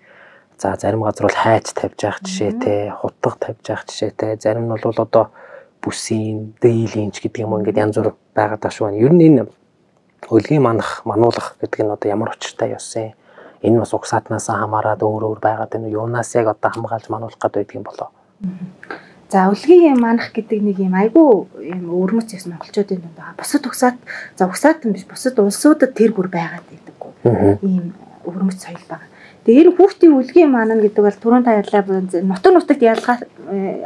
За зарим газар бол хайж тавьж явах жишээтэй, хутга тавьж явах жишээтэй, зарим нь бол одоо бүсийн, дээлинч гэдэг юм ингээд янз бүр байгаа даа шүү. Ер нь энэ өлгийн мануулах гэдэг нь одоо ямар учиртай ёс юм. Энэ бас угсаатнаас хамаарат өөр байгаад энэ юунаас яг одоо хамгаалж мануулах гэдэг юм болоо. За өлгийн манах гэдэг нэг юм айгүй юм өрмөц ёс монголчуудын дунд байгаа. Бусад угсаат за угсаат юм биш бусад улсуудад тэр бүр байгаад байдаггүй. Ийм өрмөц соёл байгаа. Тэгээ энэ хүүхдийн өлгийн манана гэдэг бол түрүүн та ярьлаа нутагт ялгаа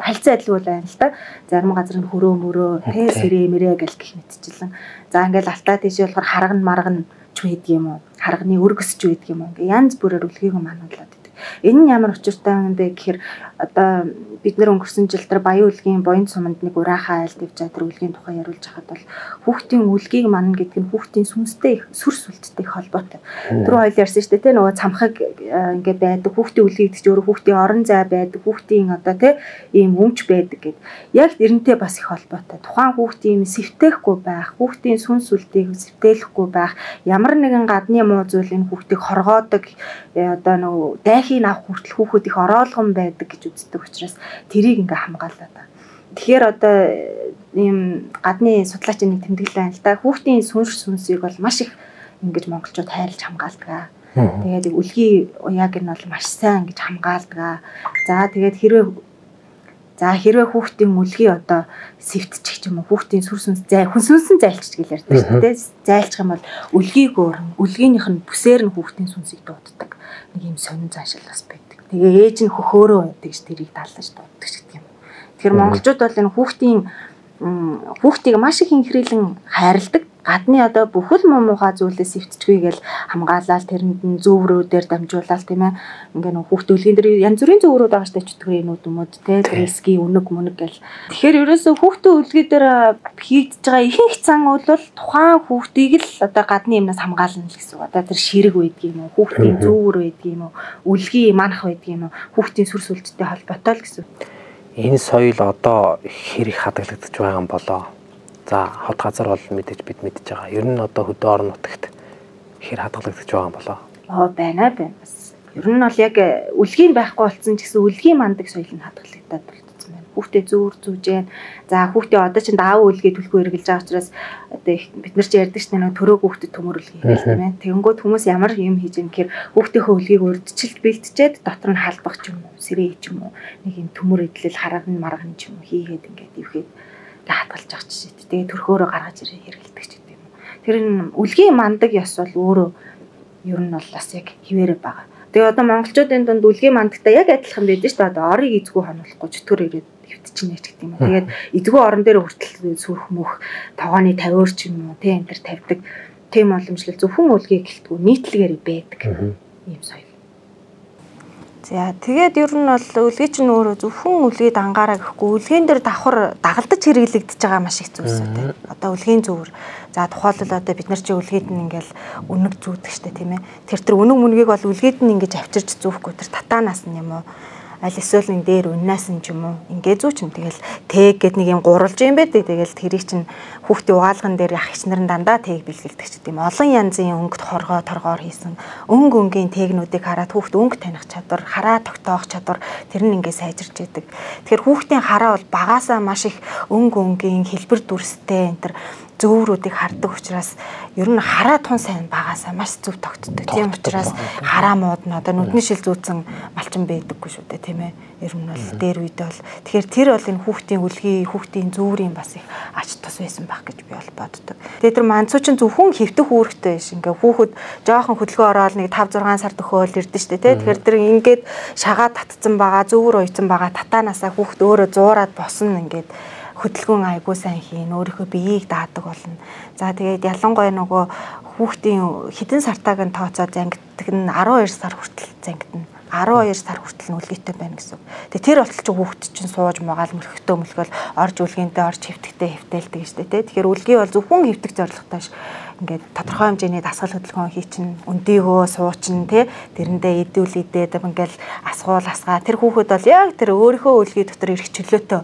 харилцан адил бол байна л та. Зарим газар нь хөрөө мөрөө тэ сэрээ мэрээ гэл гэх мэтчлэн. За ингээл алтаа тийш болохоор харган марган ч байдаг юм уу? Харганы өргөсч байдаг юм уу? Ингээ янз бүрээр өлгийг мануулаад байдаг. Энэ нь ямар учиртай юм бэ гэхээр одоо бид нэр өнгөрсөн жил тэр Баян үлгийн буян суманд нэг урайхаа айлд явж байгаа тэр үлгийн тухай яриулж хахад бол хүүхдийн үлгийг манна гэдэг нь хүүхдийн сүнстэй сүрс үлдтэй холбоотой. Тэр хоёул ярьсан шүү дээ те нөгөө цамхаг ингээд байдаг хүүхдийн үлгийг гэж өөрөө хүүхдийн орон зай байдаг хүүхдийн одоо те ийм өмч байдаг гэд. Яг эрентэй бас их холбоотой. Тухайн хүүхдийн сэвтээхгүй байх, хүүхдийн сүнс үлдийг сэвтээлэхгүй байх, ямар нэгэн гадны муу зүйл энэ хүүхдийг хоргоодог одоо нөгөө дайхийг авах хүртэл хүүхэд их ороолгон байдаг гэж үздэг учраас тэрийг ингээ хамгаалаа та. Тэгэхээр одоо ийм гадны судлаачийн нэг тэмдэглэл байна л да. Хүүхдийн сүнсийг бол маш их ингэж монголчууд хайрлаж хамгаалдаг. Тэгээд үлгийн уяаг нь бол маш сайн гэж хамгаалдаг. За тэгээд хэрвээ хүүхдийн үлгий одоо сэвтчих юм уу хүүхдийн сүр сүнс хүнсүнсэн зайлчж гэж ярьдаг шүү дээ. Зайлчих юм бол үлгийг өөрн үлгийнх нь бүсээр нь хүүхдийн сүнсийг дууддаг. Нэг юм сонин заашил бас байдаг. Тэгээ ээж нь хөхөөрөө байдаг ш тэрийг даалгаж дууддаг ч гэдэг юм. Тэгэхээр монголчууд бол энэ хүүхдийг маш их инхрийлэн хайрладаг. Гадны одоо бүхэл муухай зүйлээс эвтчихгүйгээл хамгаалаад тэрэнд нь зөврүүдээр дамжуулаад тийм ээ ингээ нөх хүүхдээ үлгийн дээр янз бүрийн зөврүүд байгаа штэ чөтгөрийн нүдмөд те риски үнэг гэл. Тэгэхээр ерөөсөө хүүхдээ үлгээ дээр хийгдэж байгаа ихэнх зан бол тухайн хүүхдийг л одоо гадны юмнаас хамгаална л гэсэн үг. Одоо тэр ширэг байдгийг юм уу хүүхдийн зөвөр байдгийг юм уу үлгийн манах байдгийг юм уу хүүхдийн сүрс үлдтэй холбоотой л гэсэн. Энэ соёл одоо хэр их хадгалагдаж байгаа юм болоо. За хот газар бол мэдээж бид мэдж байгаа. Ер нь одоо хөдөө орон нутагт хэр хадгалагдаж байгаа юм болоо. Байна. Бас ер нь бол яг үлгийн байхгүй болсон ч гэсэн үлгийн мандаг соёл нь хадгалагдаад болчихсон байна. Хүүхдээ зүүр зүүжээн. За хүүхдээ одоо чинь даав үлгээ төлхөө эргэлж байгаа учраас одоо бид нар ч ярьдаг ш нь төрөө хүүхдэд төмөр үлгээ хийгээл тийм ээ. Тэгэнгүүт хүмүүс ямар юм хийж юм гэхээр хүүхдийнхөө үлгийг урдчилж бэлтжээд дотор нь халбах ч юм уу, сэрээ ч юм уу, нэг юм төмөр идлэл хараган марган ч юм уу хийгээд ингээд ивхэд хатгалж байгаа ч шээ. Тэгээ төрхөөрөө гаргаж ирээ хэрэгэлдэг ч гэдэг юм. Тэр үлгийн мандаг ёс бол өөрөө ер нь бол бас яг хിവэрэ байгаа. Тэгээ одоо монголчуудын дунд үлгийн мандагтай яг адилхан байдаг шүү дээ. Одоо орыг эзгүй хонуулахгүй чөтгөр ирээд хөвтчихнэ ч гэдэг юм. Тэгээд эзгүй орон дээр хүртэл сүрх мөх тогооны 50-оор ч юм уу тий энэ төр тавьдаг. Тийм боломжлол зөвхөн үлгийг гэлтгүү нийтлэгээр байдаг. Ийм соёл. За тэгээд ер нь бол үлгээ чинь өөрөө зөвхөн үлгээ дангаараа гэхгүй үлгийн дээр давхар дагалдаж хэрэглэгдэж байгаа маш их зүйлс үү. Одоо үлгийн зөвөр. За тухайлбал одоо бид нар чи үлгээд нь ингээл үнэг зүүдэг штэ тийм ээ. Тэр үнэг мүнгийг бол үлгээд нь ингэж авчирч зүүхгүй тэр татаанаас нь юм уу. Аль эсвэл нэг дээр үннаас нь ч юм уу ингээ зүүчин тэгэл тэг гэд нэг юм гурвалж юм бэ тэгэл тэрийг чинь хүүхдийн угаалган дээр ах ич нарын дандаа тэг бэлгэлдэг ч гэдэм олон янзын өнгөт торгоор хийсэн өнгийн тэгнүүдийг хараад хүүхд өнгө таних чадвар хараа тогтоох чадвар тэр нь ингээ сайжирч идэг. Тэгэхээр хүүхдийн хараа бол багаасаа маш их өнгийн хэлбэр дүрстэй энэ төр зөврүүдийг хардаг учраас ер нь хараа тун сайн багаасаа маш зөв тогтдог. Тийм учраас хараа мууд нь одоо нүдний шил зүүцэн малчин байдаггүй шүү дээ тийм ээ. Ер нь бол дээр үед бол тэгэхээр тэр бол энэ хүүхдийн үлгийн хүүхдийн зөврийн бас их ач тус байсан байх гэж би бол боддог. Тэгээ тэр манцуу чинь зөвхөн хэвтэх үүрэгтэй биш. Ингээ хүүхэд жоохон хөдөлгөөн ороод нэг 5-6 сар төхөөл ирдэ шүү дээ тийм. Тэгэхээр тэр ингээд шагаад татцсан байгаа зөвөр уйцсан байгаа татаанаасаа хүүхд өөрөө зуураад босно ингээд хөдөлгөөн айгуу сайн хийн өөрийнхөө биеийг даадаг болно. За тэгээд ялангуяа нөгөө хүүхдийн хідэн сартааг нь тооцоод зангиддаг нь 12 сар хүртэл зангидна. 12 сар хүртэл нь үлгээтэй байна гэсэн. Тэгээд тэр болтол ч хүүхд чинь сууж магаал мөрхтөө мөлгөл орж үлгэнтэй орж хэвтэгтэй хэвтээлдэг шүү дээ. Тэгэхээр үлгий бол зөвхөн хэвтэх зорилготой ш. Ингээд тодорхой хэмжээний дасгал хөдөлгөөн хийчин өндийгөө суучин тий тэрэндээ идүүл идээд ингээл асгуул асгаа тэр хүүхэд бол яг тэр өөрийнхөө үлгий дотор ирэх чөлөөтэй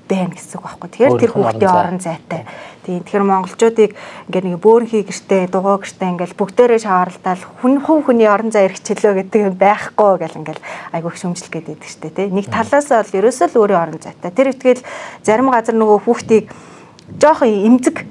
байна гэсэн үг байхгүй. Тэгэхээр тэр хүүхдийн орон зайтай. Тийм. Тэгэхээр монголчуудыг ингээ нэг бөөрхий гэртээ, дугуй гэртээ ингээл бүгдээрээ шааралдаал хүний орон зай эрхчлөө гэдэг юм байхгүй гэл ингээл айгүй их шөмжлөх гэдэг штэ тий. Нэг талаас бол ерөөсөө л өөрийн орон зайтай. Тэр ихтгэл зарим газар нөгөө хүүхдийг жоохон эмзэг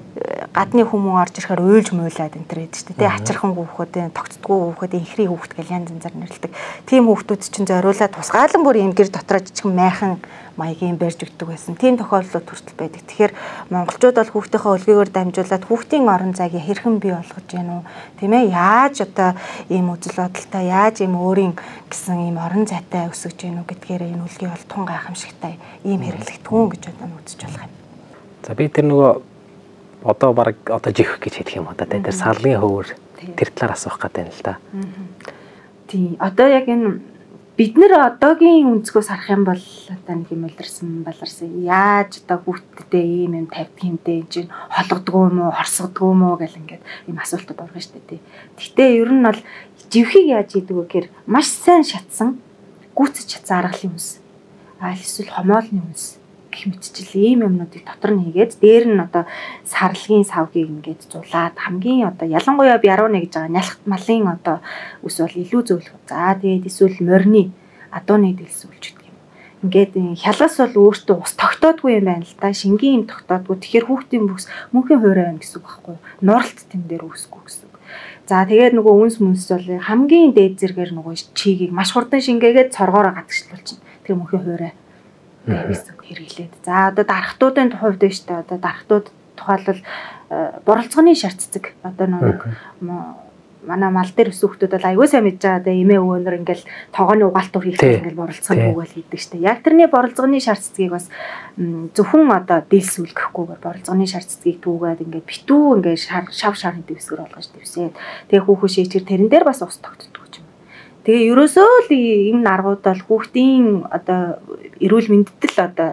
гадны хүмүүс орж ирэхээр уйлж муулаад энэ төр байдаг шүү дээ. Ачирхан хүүхэд, тогтдгүй хүүхэд, инхри хүүхэд гэл янз янзаар нэрлэдэг. Тийм хүүхдүүд чинь зориулаад тусгаалan бүр юм гэр дотроо жижигэн майхан маягийн барьж өгдөг байсан. Тийм тохиолдлууд хүртэл байдаг. Тэгэхээр монголчууд бол хүүхдийнхээ үлгийгээр дамжуулаад хүүхдийн орон зайг хэрхэн бий болгож гэнэ үү? Тийм ээ? Яаж одоо ийм үзэл бодолтой, яаж ийм өөрийн гэсэн ийм орон зайтай өсөж гэнэ үү гэдгээр энэ үлгий бол тун гайхамшигтай ийм хэрэглэгдэхүүн гэж одоо үзэж болох юм. За би тэр нөгөө одоо баг одоо жих гэж хэлэх юм одоо тэр салгийн хөвөр тэр талаар асуух гэдэг юм л да. Тийм. Одоо яг энэ бид нэр одоогийн өнцгөөс харах юм бол одоо нэг юм баларсан яаж одоо хүүхдтэй ийм тавьдаг юмтэй энэ чинь холгодгоо юм уу хорсгодгоо юм уу гэл ингээд ийм асуултууд орно шүү дээ. Гэхдээ ер нь бол живхийг яаж хийдэг вэ гэхээр маш сайн шатсан гүйцэж чадсан аргалын хүнс. Эсвэл хомоолны хүнс гэх мэтчил ийм юмнуудыг дотор нь хийгээд дээр нь одоо сарлагын савгийг ингээд зулаад хамгийн одоо ялангуяа би 11 гэж байгаа нялхт малын одоо ус бол илүү зөөлөх. За тэгээд эсвэл морины адууны дэлсүүлж гэдэг юм. Ингээд хялгас бол өөртөө ус тогтоодгүй юм байна л да. Шингийн юм тогтоодгүй. Тэгэхээр хүүхдийн бүс мөнхийн хуурай байна гэсэн үг байхгүй юу? Нуралт тэн дээр үүсэхгүй гэсэн үг. За тэгээд нөгөө үнс мөнс бол хамгийн дээд зэрэгээр нөгөө чигийг маш хурдан шингээгээд цоргоороо гадагшлуулчихна. Тэр мөнхийн хуурай гэсэн хэрэглээд. За одоо дарахтуудын хувьд нь шүү дээ. Одоо дарахтууд тухайлбал боролцооны шаарцдаг. Одоо нэг манай мал дээр өсөх хүмүүс бол аягүй сайн мэдж байгаа. Одоо эмээ өвөнөр ингээл тоогооны угаалтуур хийхдээ ингээл боролцооны үгээл хийдэг шүү дээ. Яг тэрний боролцооны шаарцдгийг бас зөвхөн одоо дэлсүүлгэхгүйгээр боролцооны шаарцдгийг түүгээд ингээд битүү ингээд шав шарын дэвсгэр болгож дэвсээд тэгээ хүүхэн шийчгэр тэрэн дээр бас ус тогтдог юм. Тэгээ ерөөсөө л энэ аргууд бол хүүхдийн одоо эрүүл мэндэд л одоо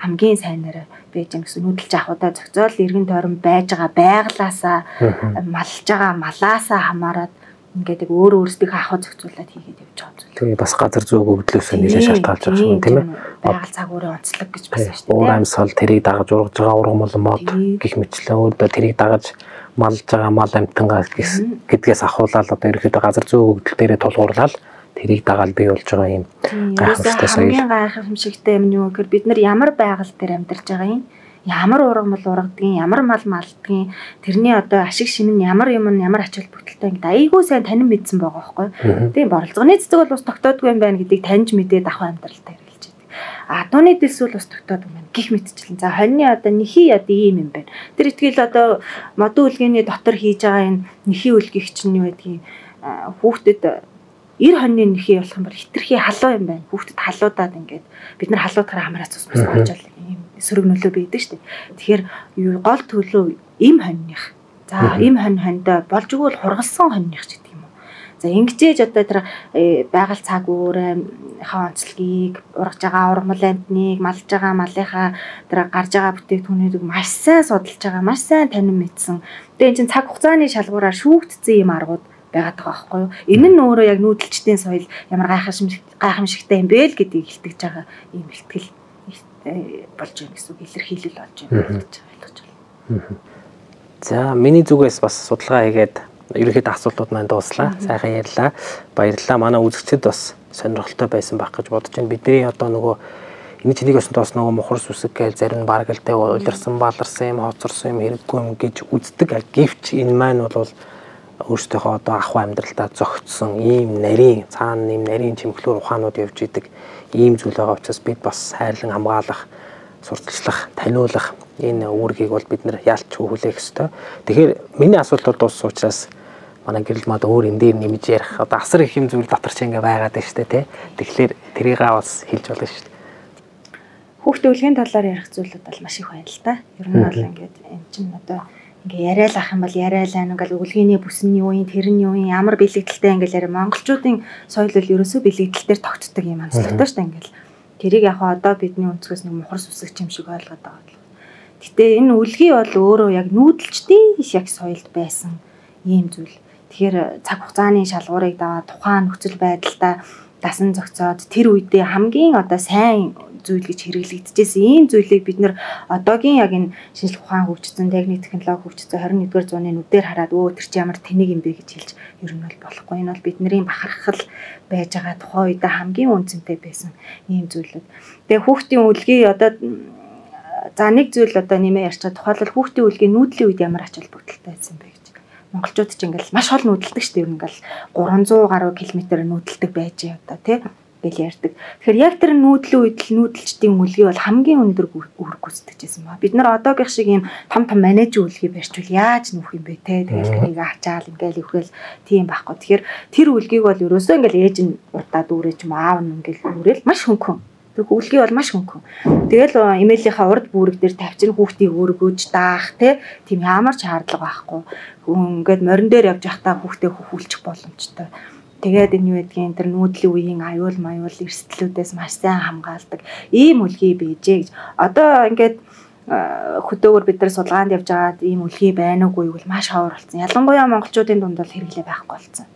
хамгийн сайнаар байж гэн гэсэн нүүдэлж авахудаа зохицол эргэн тойрон байж байгаа байглаасаа малж байгаа малаасаа хамаарат ингээд өөр өөрсдийнхөө ахуй зохицуулаад хийгээд явж байгаа зүйл. Тэгээ бас газар зөөг өвдлөөсөө нэлээд шалтгаалж байгаа шүү тийм ээ. Байгаль цагуурын онцлог гэж бас байна шүү дээ. Уур амьсгал тэрийг дагаж ургаж байгаа ургамал мод гих мэтлээ өөртөө тэрийг дагаж малж байгаа мал амтангаа гэдгээс ахуулаад одоо ерөөхдөө газар зөөг өвдөл дээрээ тулгуурлаад тэрийг дагаал бий болж байгаа юм гайхамшигтай соёл. Хамгийн гайхамшигтай юм нь юу гэхээр бид нар ямар байгаль дээр амьдарч байгаа юм, ямар ургамал ургадгийн, ямар мал малдгийн, тэрний одоо ашиг шин нь ямар юм нь ямар ач холбогдолтой ингээд айгүй сайн танин мэдсэн байгаа байхгүй. Тийм боролцооны цэцэг бол ус тогтоодгүй юм байна гэдгийг таньж мэдээд ахуй амьдралтай хэрэгжилж байдаг. Адууны дэлсүүл ус тогтоодгүй юм гих мэтчлэн. За хоньны одоо нэхий одоо ийм юм байна. Тэр итгэл одоо модон үлгээний дотор хийж байгаа энэ нэхий үлгийх чинь юу гэдгийг хүүхдэд 90 хоньны нэхий болох юм бол хитрхи халуун юм байна. Хүүхдэд халуудаад ингээд бид нар халуудахаар хамраац ус болжол юм сөрөг нөлөө бийдэг шүү дээ. Тэгэхээр гол төлөв им хоньных. За им хондоо болж өгвөл хургалсан хоньных ч гэдэг юм уу. За ингэжээж одоо тэр байгаль цаг уурынхаа онцлогийг ургаж байгаа ургамал амтныг малж байгаа малынхаа тэр гарж байгаа бүтээгдэхүүнийг маш сайн судалж байгаа, маш сайн танин мэдсэн. Тэгээ энэ чинь цаг хугацааны шалгуураар шүүгдсэн юм аргууд байгаад байгаа байхгүй юу. Энэ нь өөрөө яг нүүдэлчдийн соёл ямар гайхамшигтай юм бэ л гэдгийг илтгэж байгаа юм ихтгэл болж байна гэсэн үг, илэрхийлэл болж байна гэж ойлгож байна. За миний зүгээс бас судалгаа хийгээд ерөнхийдөө асуултууд маань дууслаа. Сайхан ярьлаа. Баярлалаа. Манай үзэгчид бас сонирхолтой байсан байх гэж бодож байна. Бидний одоо нөгөө энэ чинийг өсөн тоос нөгөө мухар сүсэг гээл зарим нь бараг л тэ уйларсан, баларсан юм, хоцорсон юм хэрэггүй юм гэж үздэг. Гэвч энэ маань бол өөрсдийнхөө одоо ахуй амьдралдаа зөгцсөн ийм нарийн цаана ийм нарийн чимэглэр ухаанууд явж идэг ийм зүйл байгаа учраас бид бас хайрлан хамгаалах, сурталчлах, таниулах энэ үүргийг бол бид нэр яалч хүлээх ёстой. Тэгэхээр миний асуулт бол дууссан учраас манай гэрэл мад өөр энэ дээр нэмж ярих одоо асар их юм зүйл дотор ч ингээ байгаад байна шүү дээ тий. Тэгэхээр тэрийгээ бас хэлж болно шүү дээ. Хүүхдийн үлгийн талаар ярих зүйлүүд бол маш их байна л да. Ер нь бол ингээд эн чинь одоо ингээ яриад ах юм бол яриад ингээл үлгээний бүсний үеийн тэрний үеийн ямар бэлэгдэлтэй ингээл яриа монголчуудын соёл бол ерөөсөө бэлэгдэлээр тогтдог юм онцлогтой шүү дээ ингээл. Тэрийг яг одоо бидний өнцгөөс нэг мухар сүсэг юм шиг ойлгоод байгаа. Гэтэ энэ үлгий бол өөрөө яг нүүдэлчдийн яг соёлд байсан ийм зүйл. Тэгэхээр цаг хугацааны шалгуурыг даваад тухайн нөхцөл байдалтай дасан зохицоод тэр үедээ хамгийн одоо сайн зүйл гэж хэрэглэгдэжсэн ийм зүйлийг бид нэр одоогийн яг энэ шинжлэх ухаан хөгжсөн, техник технологи хөгжсөн 21-р зууны нүдээр хараад өө тэр чи ямар тэнэг юм бэ гэж хэлж ер нь бол болохгүй. Энэ бол бидний бахархал байж байгаа тухайн үедээ хамгийн үнцэнтэй байсан ийм зүйлүүд. Тэгээ хүүхдийн үлгий одоо за нэг зүйл одоо нэмээ ярьчаа тухайлбал хүүхдийн үлгийн нүүдлийн үед ямар ач холбогдолтой байсан бэ гэж. Монголчууд ч ингээл маш хол нүүдэлдэг шүү дээ. Ер нь ингээл 300 гаруй километр нүүдэлдэг байж одоо тий гэл ярьдаг. Тэгэхээр яг тэр нүүдлийн үед л нүүдэлчдийн үлгий бол хамгийн өндөр үүрэг гүйцэтгэжсэн ба. Бид нар одоогийн шиг ийм том менежер үлгий барьчвал яаж нүүх юм бэ те. Тэгэл тэрийг ачаал ингээл өвхөл тийм байхгүй. Тэгэхээр тэр үлгийг бол ерөөсөө ингээл ээж нь урдаад үүрэж юм аав нь ингээл үүрэл маш хөнгөн. Тэр үлгий бол маш хөнгөн. Тэгэл эмээлийнхаа урд бүрэг дээр тавьчин хүүхдийг өргөж даах те. Тийм ямар ч шаардлага байхгүй. Ингээд морин дээр явж байхдаа хүүхдээ хөвүүлчих боломжтой. Тэгээд энэ юу гэдгийг тэр нүүдлийн үеийн аюул эрсдлүүдээс маш сайн хамгаалдаг ийм үлгий бийжээ гэж. Одоо ингээд хөдөөгөр бид нар судалгаанд явж байгаад ийм үлгий байна уугүй бол маш ховор болсон. Ялангуяа монголчуудын дунд бол хэрэглээ байхгүй болсон.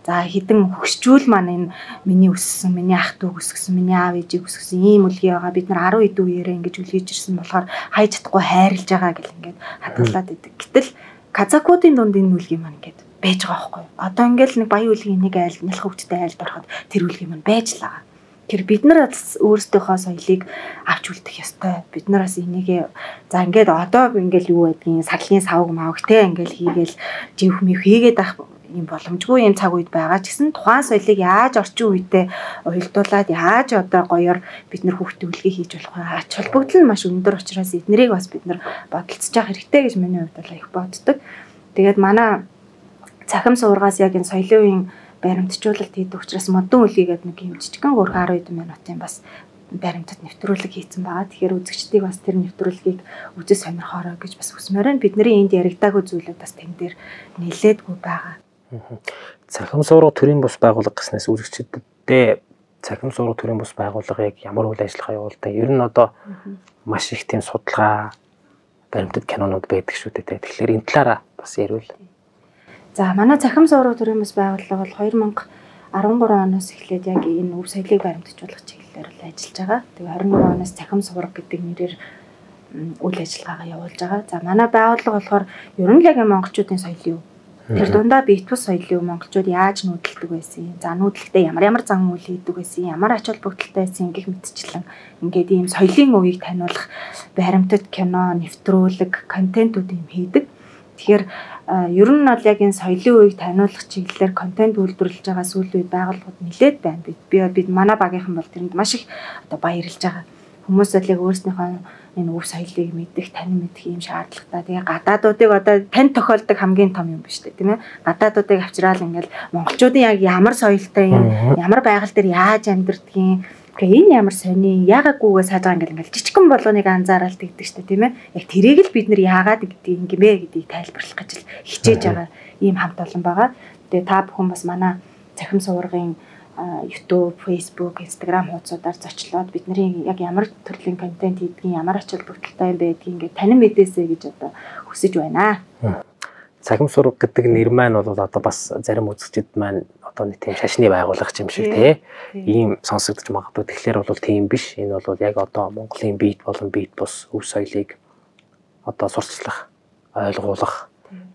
За хідэн хөгсчүүл маань энэ миний өссөн, миний ах дүү өсгсөн, миний аав ээжийг өсгсөн ийм үлгий байгаа. Бид нар 10 эд үеэрээ ингэж үлгийж ирсэн болохоор хайж чадахгүй хайрлаж байгаа гэл ингээд хадгалаад идэг. Гэтэл казакуудын дунд энэ үлгий маань ингээд байж байгаа байхгүй. Одоо ингээл нэг баян үлгийн нэг айл нялх хөвгттэй айлд ороход тэр үлгий маань байж л байгаа. Тэр бид нар өөрсдийнхөө соёлыг авч үлдэх ёстой. Бид нараас энийг за ингээд одоо ингээл юу байдгийг саглын савг мавгтэй ингээл хийгээл живх мив хийгээд ах юм боломжгүй юм цаг үед байгаа ч гэсэн тухайн соёлыг яаж орчин үедээ уялдуулад яаж одоо гоёор бид нар хүүхдээ үлгий хийж болох вэ? Ач холбогдол нь маш өндөр учраас эднэрийг бас бид нар бодолцож явах хэрэгтэй гэж миний хувьд бол их боддог. Тэгээд манай цахим суургаас яг энэ соёлын баримтжуулалт хийдэг учраас модон үлгийгээд нэг юм жижигхэн 10 хэдэн минутын бас баримтад нэвтрүүлэг хийсэн байгаа. Тэгэхээр үзэгчдийг бас тэр нэвтрүүлгийг үзэж сонирхоорой гэж бас хүсмээр байна. Бидний энд яригдаагүй зүйлүүд бас тэн дээр нэлээдгүй байгаа. Цахим суурга төрийн бус байгууллага гэснээс үзэгчдэд цахим суурга төрийн бус байгууллагыг ямар үйл ажиллагаа явуулдаг? Ер нь одоо маш их тийм судалгаа баримтат кинонууд байдаг шүү дээ. Тэгэхээр энэ талаараа бас ярил. За манай цахим суурга төрийн бус байгууллага бол 2013 оноос эхлээд яг энэ өв соёлыг баримтжуулах чиглэлээр л ажиллаж байгаа. Тэгээ 21 оноос цахим суурга гэдэг нэрээр үйл ажиллагаагаа явуулж байгаа. За манай байгууллага болохоор ер нь л яг монголчуудын соёл юу? Тэр дундаа бит бус соёлыг монголчууд яаж нүүдэлдэг байсан юм? За нүүдэлтэй ямар зан үйл хийдэг байсан? Ямар ач холбогдолтой байсан гэх мэтчлэн ингээд ийм соёлын үеийг таниулах баримтат кино, нэвтрүүлэг, контентууд юм хийдэг. Тэгэхээр ер нь бол яг энэ соёлын үеийг таниулах чиглэлээр контент үйлдвэрлэж байгаа сүүлийн үед байгууллагууд нэлээд байна. Бид манай багийнхан бол тэрэнд маш их одоо баярлж байгаа. Хүмүүс л яг өөрснийхөө энэ өв соёлыг мэдэх, танин мэдэх юм шаардлагатай. Тэгээ гадаадуудыг одоо тань тохиолдог хамгийн том юм биш үү, тийм ээ? Гадаадуудыг авчраал ингээл монголчуудын яг ямар соёлтой юм, ямар байгаль дээр яаж амьдардгийг, тэгээ энэ ямар сони, яагаагүйгээ сааж байгаа ингээл жижигхэн болгоныг анзааралт гэдэг чинь тийм ээ? Яг тэрийг л бид нэр яагаад гэдгийг юм бэ гэдгийг тайлбарлах гэж л хичээж байгаа ийм хамт олон байгаа. Тэгээ та бүхэн бас манай цахим суургын YouTube, Facebook, Instagram хуудасуудаар зочлоод бидний яг ямар төрлийн контент хийдгийг, ямар ач холбогдолтой юм байдгийг ингээд танин мэдээсэй гэж одоо хүсэж байна. Цахим суурга гэдэг нэр маань бол одоо бас зарим үзэгчид маань одоо нэг тийм шашны байгууллага юм шиг тий. Ийм сонсогдож магадгүй. Тэгэхээр бол тийм биш. Энэ бол яг одоо Монголын бит болон бит бус өв соёлыг одоо сурчлах, ойлгуулах,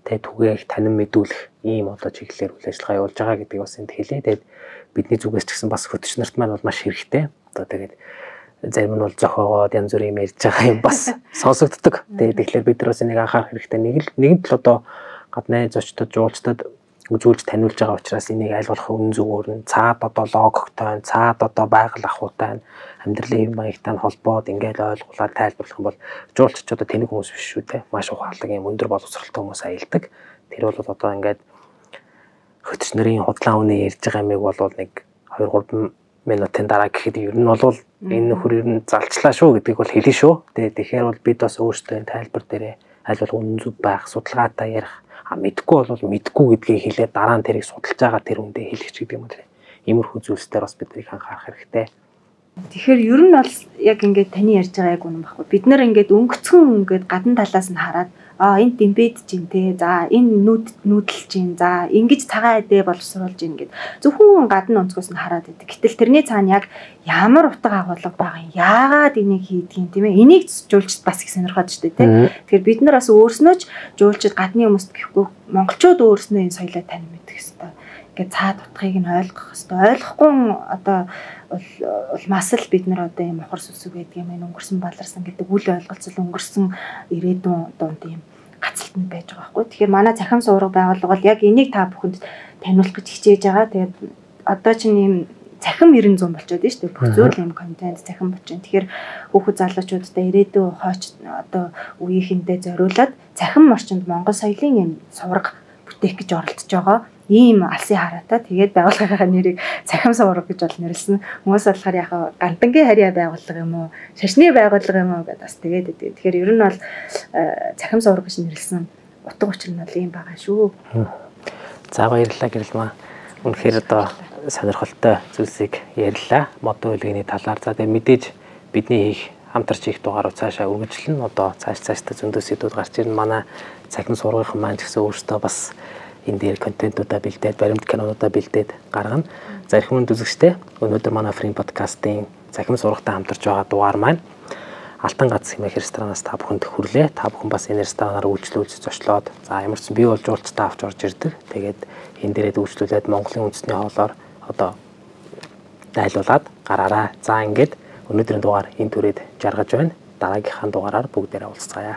түгээх, танин мэдүүлэх ийм одоо чиглэлээр үйл ажиллагаа явуулж байгаа гэдгийг бас энд хэлээ. Тэгээд бидний зүгээс ч гэсэн бас хөтөч нарт маань бол маш хэрэгтэй. Одоо тэгээд зарим нь бол зохиогоод янз бүрийн юм ярьж байгаа юм бас сонсогддог. Тэгэхээр бид нар бас энийг анхаарах хэрэгтэй. Нэгэн тал одоо гадны зочдод, жуулчдад үзүүлж таниулж байгаа учраас энийг аль болох үнэн зөвөөр нь цаад одоо логогтой, цаад одоо байгаль ахуйтай, амьдралын маягтай холбоод ингээл ойлгуулаад тайлбарлах юм бол жуулчч одоо тэнэг хүмүүс биш шүү дээ. Маш ухаалаг юм өндөр боловсролтой хүмүүс аялдаг. Тэр бол одоо ингээд хөтөч нарын худлаа үнэ ярьж байгаа юмыг бол нэг 2-3 минутын дараа гэхэд ер нь бол энэ нөхөр ер нь залчлаа шүү гэдгийг бол хэлнэ шүү. Тэгэхээр бол бид бас өөрсдөө тайлбар дээрээ аль болох үнэн зөв байх, судалгаатай ярих, мэдгүй бол мэдгүй гэдгийг хэлээд дараа нь тэрийг судалж байгаа тэр үндэ хэлэх ч гэдэг юм уу. Иймэрхүү зүйлсээр бас биднийг анхаарах хэрэгтэй. Тэгэхээр ер нь бол яг ингээд таны ярьж байгаа яг үнэн баггүй. Бид нэр ингээд өнгөцгөн ингээд гадна талаас нь хараад энд дэмбэд чинь те. За энэ нүүдэл чинь. За ингэж цагаан эдээ боловсруулж ийн гэд. Зөвхөн гадна онцгоос нь хараад идэг. Гэтэл тэрний цаана яг ямар утга агуулга байгаа юм. Яагаад энийг хийдгийг тийм ээ. Энийг жуулчд бас их сонирхоод штэ те. Тэгэхээр бид нар бас өөрснөө ч жуулчд гадны хүмүүст гэхгүй монголчууд өөрснөө энэ соёлоо таньж мэдэх ёстой. Ингээд цаад утгыг нь ойлгох ёстой. Ойлгохгүй одоо улмаас л бид нар одоо юм ухар сүсэг гэдэг юм өнгөрсөн баларсан гэдэг үл ойлголцол өнгөрсөн ирээдүйн дунд юм гацалтанд байж байгаа байхгүй. Тэгэхээр манай цахим суурга байгууллага бол яг энийг та бүхэнд таниулах гэж хичээж байгаа. Тэгээд одоо чинь ийм цахим 90 100 болчиход байна шүү дээ. Бүх зүйл юм контент цахим болчихно. Тэгэхээр хүүхэд залуучуудтай ирээдүйн хойч одоо үеийнхэндээ зориулаад цахим орчинд Монгол соёлын юм сурга бүтээх гэж оролдож байгаа. Ийм алсын хараатай тэгээд байгууллагынхаа нэрийг цахим суурга гэж бол нэрлсэн. Хүмүүс болохоор яг гандангийн харьяа байгууллага юм уу, шашны байгууллага юм уу гэдээ бас тэгээд идэв. Тэгэхээр ер нь бол цахим суурга гэж нэрлсэн утга учир нь бол ийм байгаа шүү. За баярлалаа Гэрэлмаа. Үнэхээр одоо сонирхолтой зүйлсийг ярьлаа. Модон үлгэний талаар. За тэгээ мэдээж бидний хийх хамтарч хийх дугаарууд цаашаа үргэлжлэн одоо цаашдаа зөндөө сэдвүүд гарч ирнэ. Манай цахим сургуулийн маань ч гэсэн өөртөө бас энэ дээр контентуудаа бэлдээд, баримт кинонуудаа бэлдээд гаргана. За их хүнд үзэгчтэй өнөөдөр манай Frame podcast-ийн цахим сургахтай хамтарч байгаа дугаар маань Алтан гац хэмээх ресторанаас та бүхэнд хүрлээ. Та бүхэн бас энэ ресторанаар үйлчлүүлж зочлоод за ямар ч бий болж уулзтаа авч орж ирдэг. Тэгээд энэ дээрээ үйлчлүүлээд Монголын үндэсний хоолоор одоо дайлуулад гараарай. За ингээд өнөөдрийн дугаар энэ түрээд жаргаж байна. Дараагийнхаа дугаараар бүгдээрээ уулзцаая.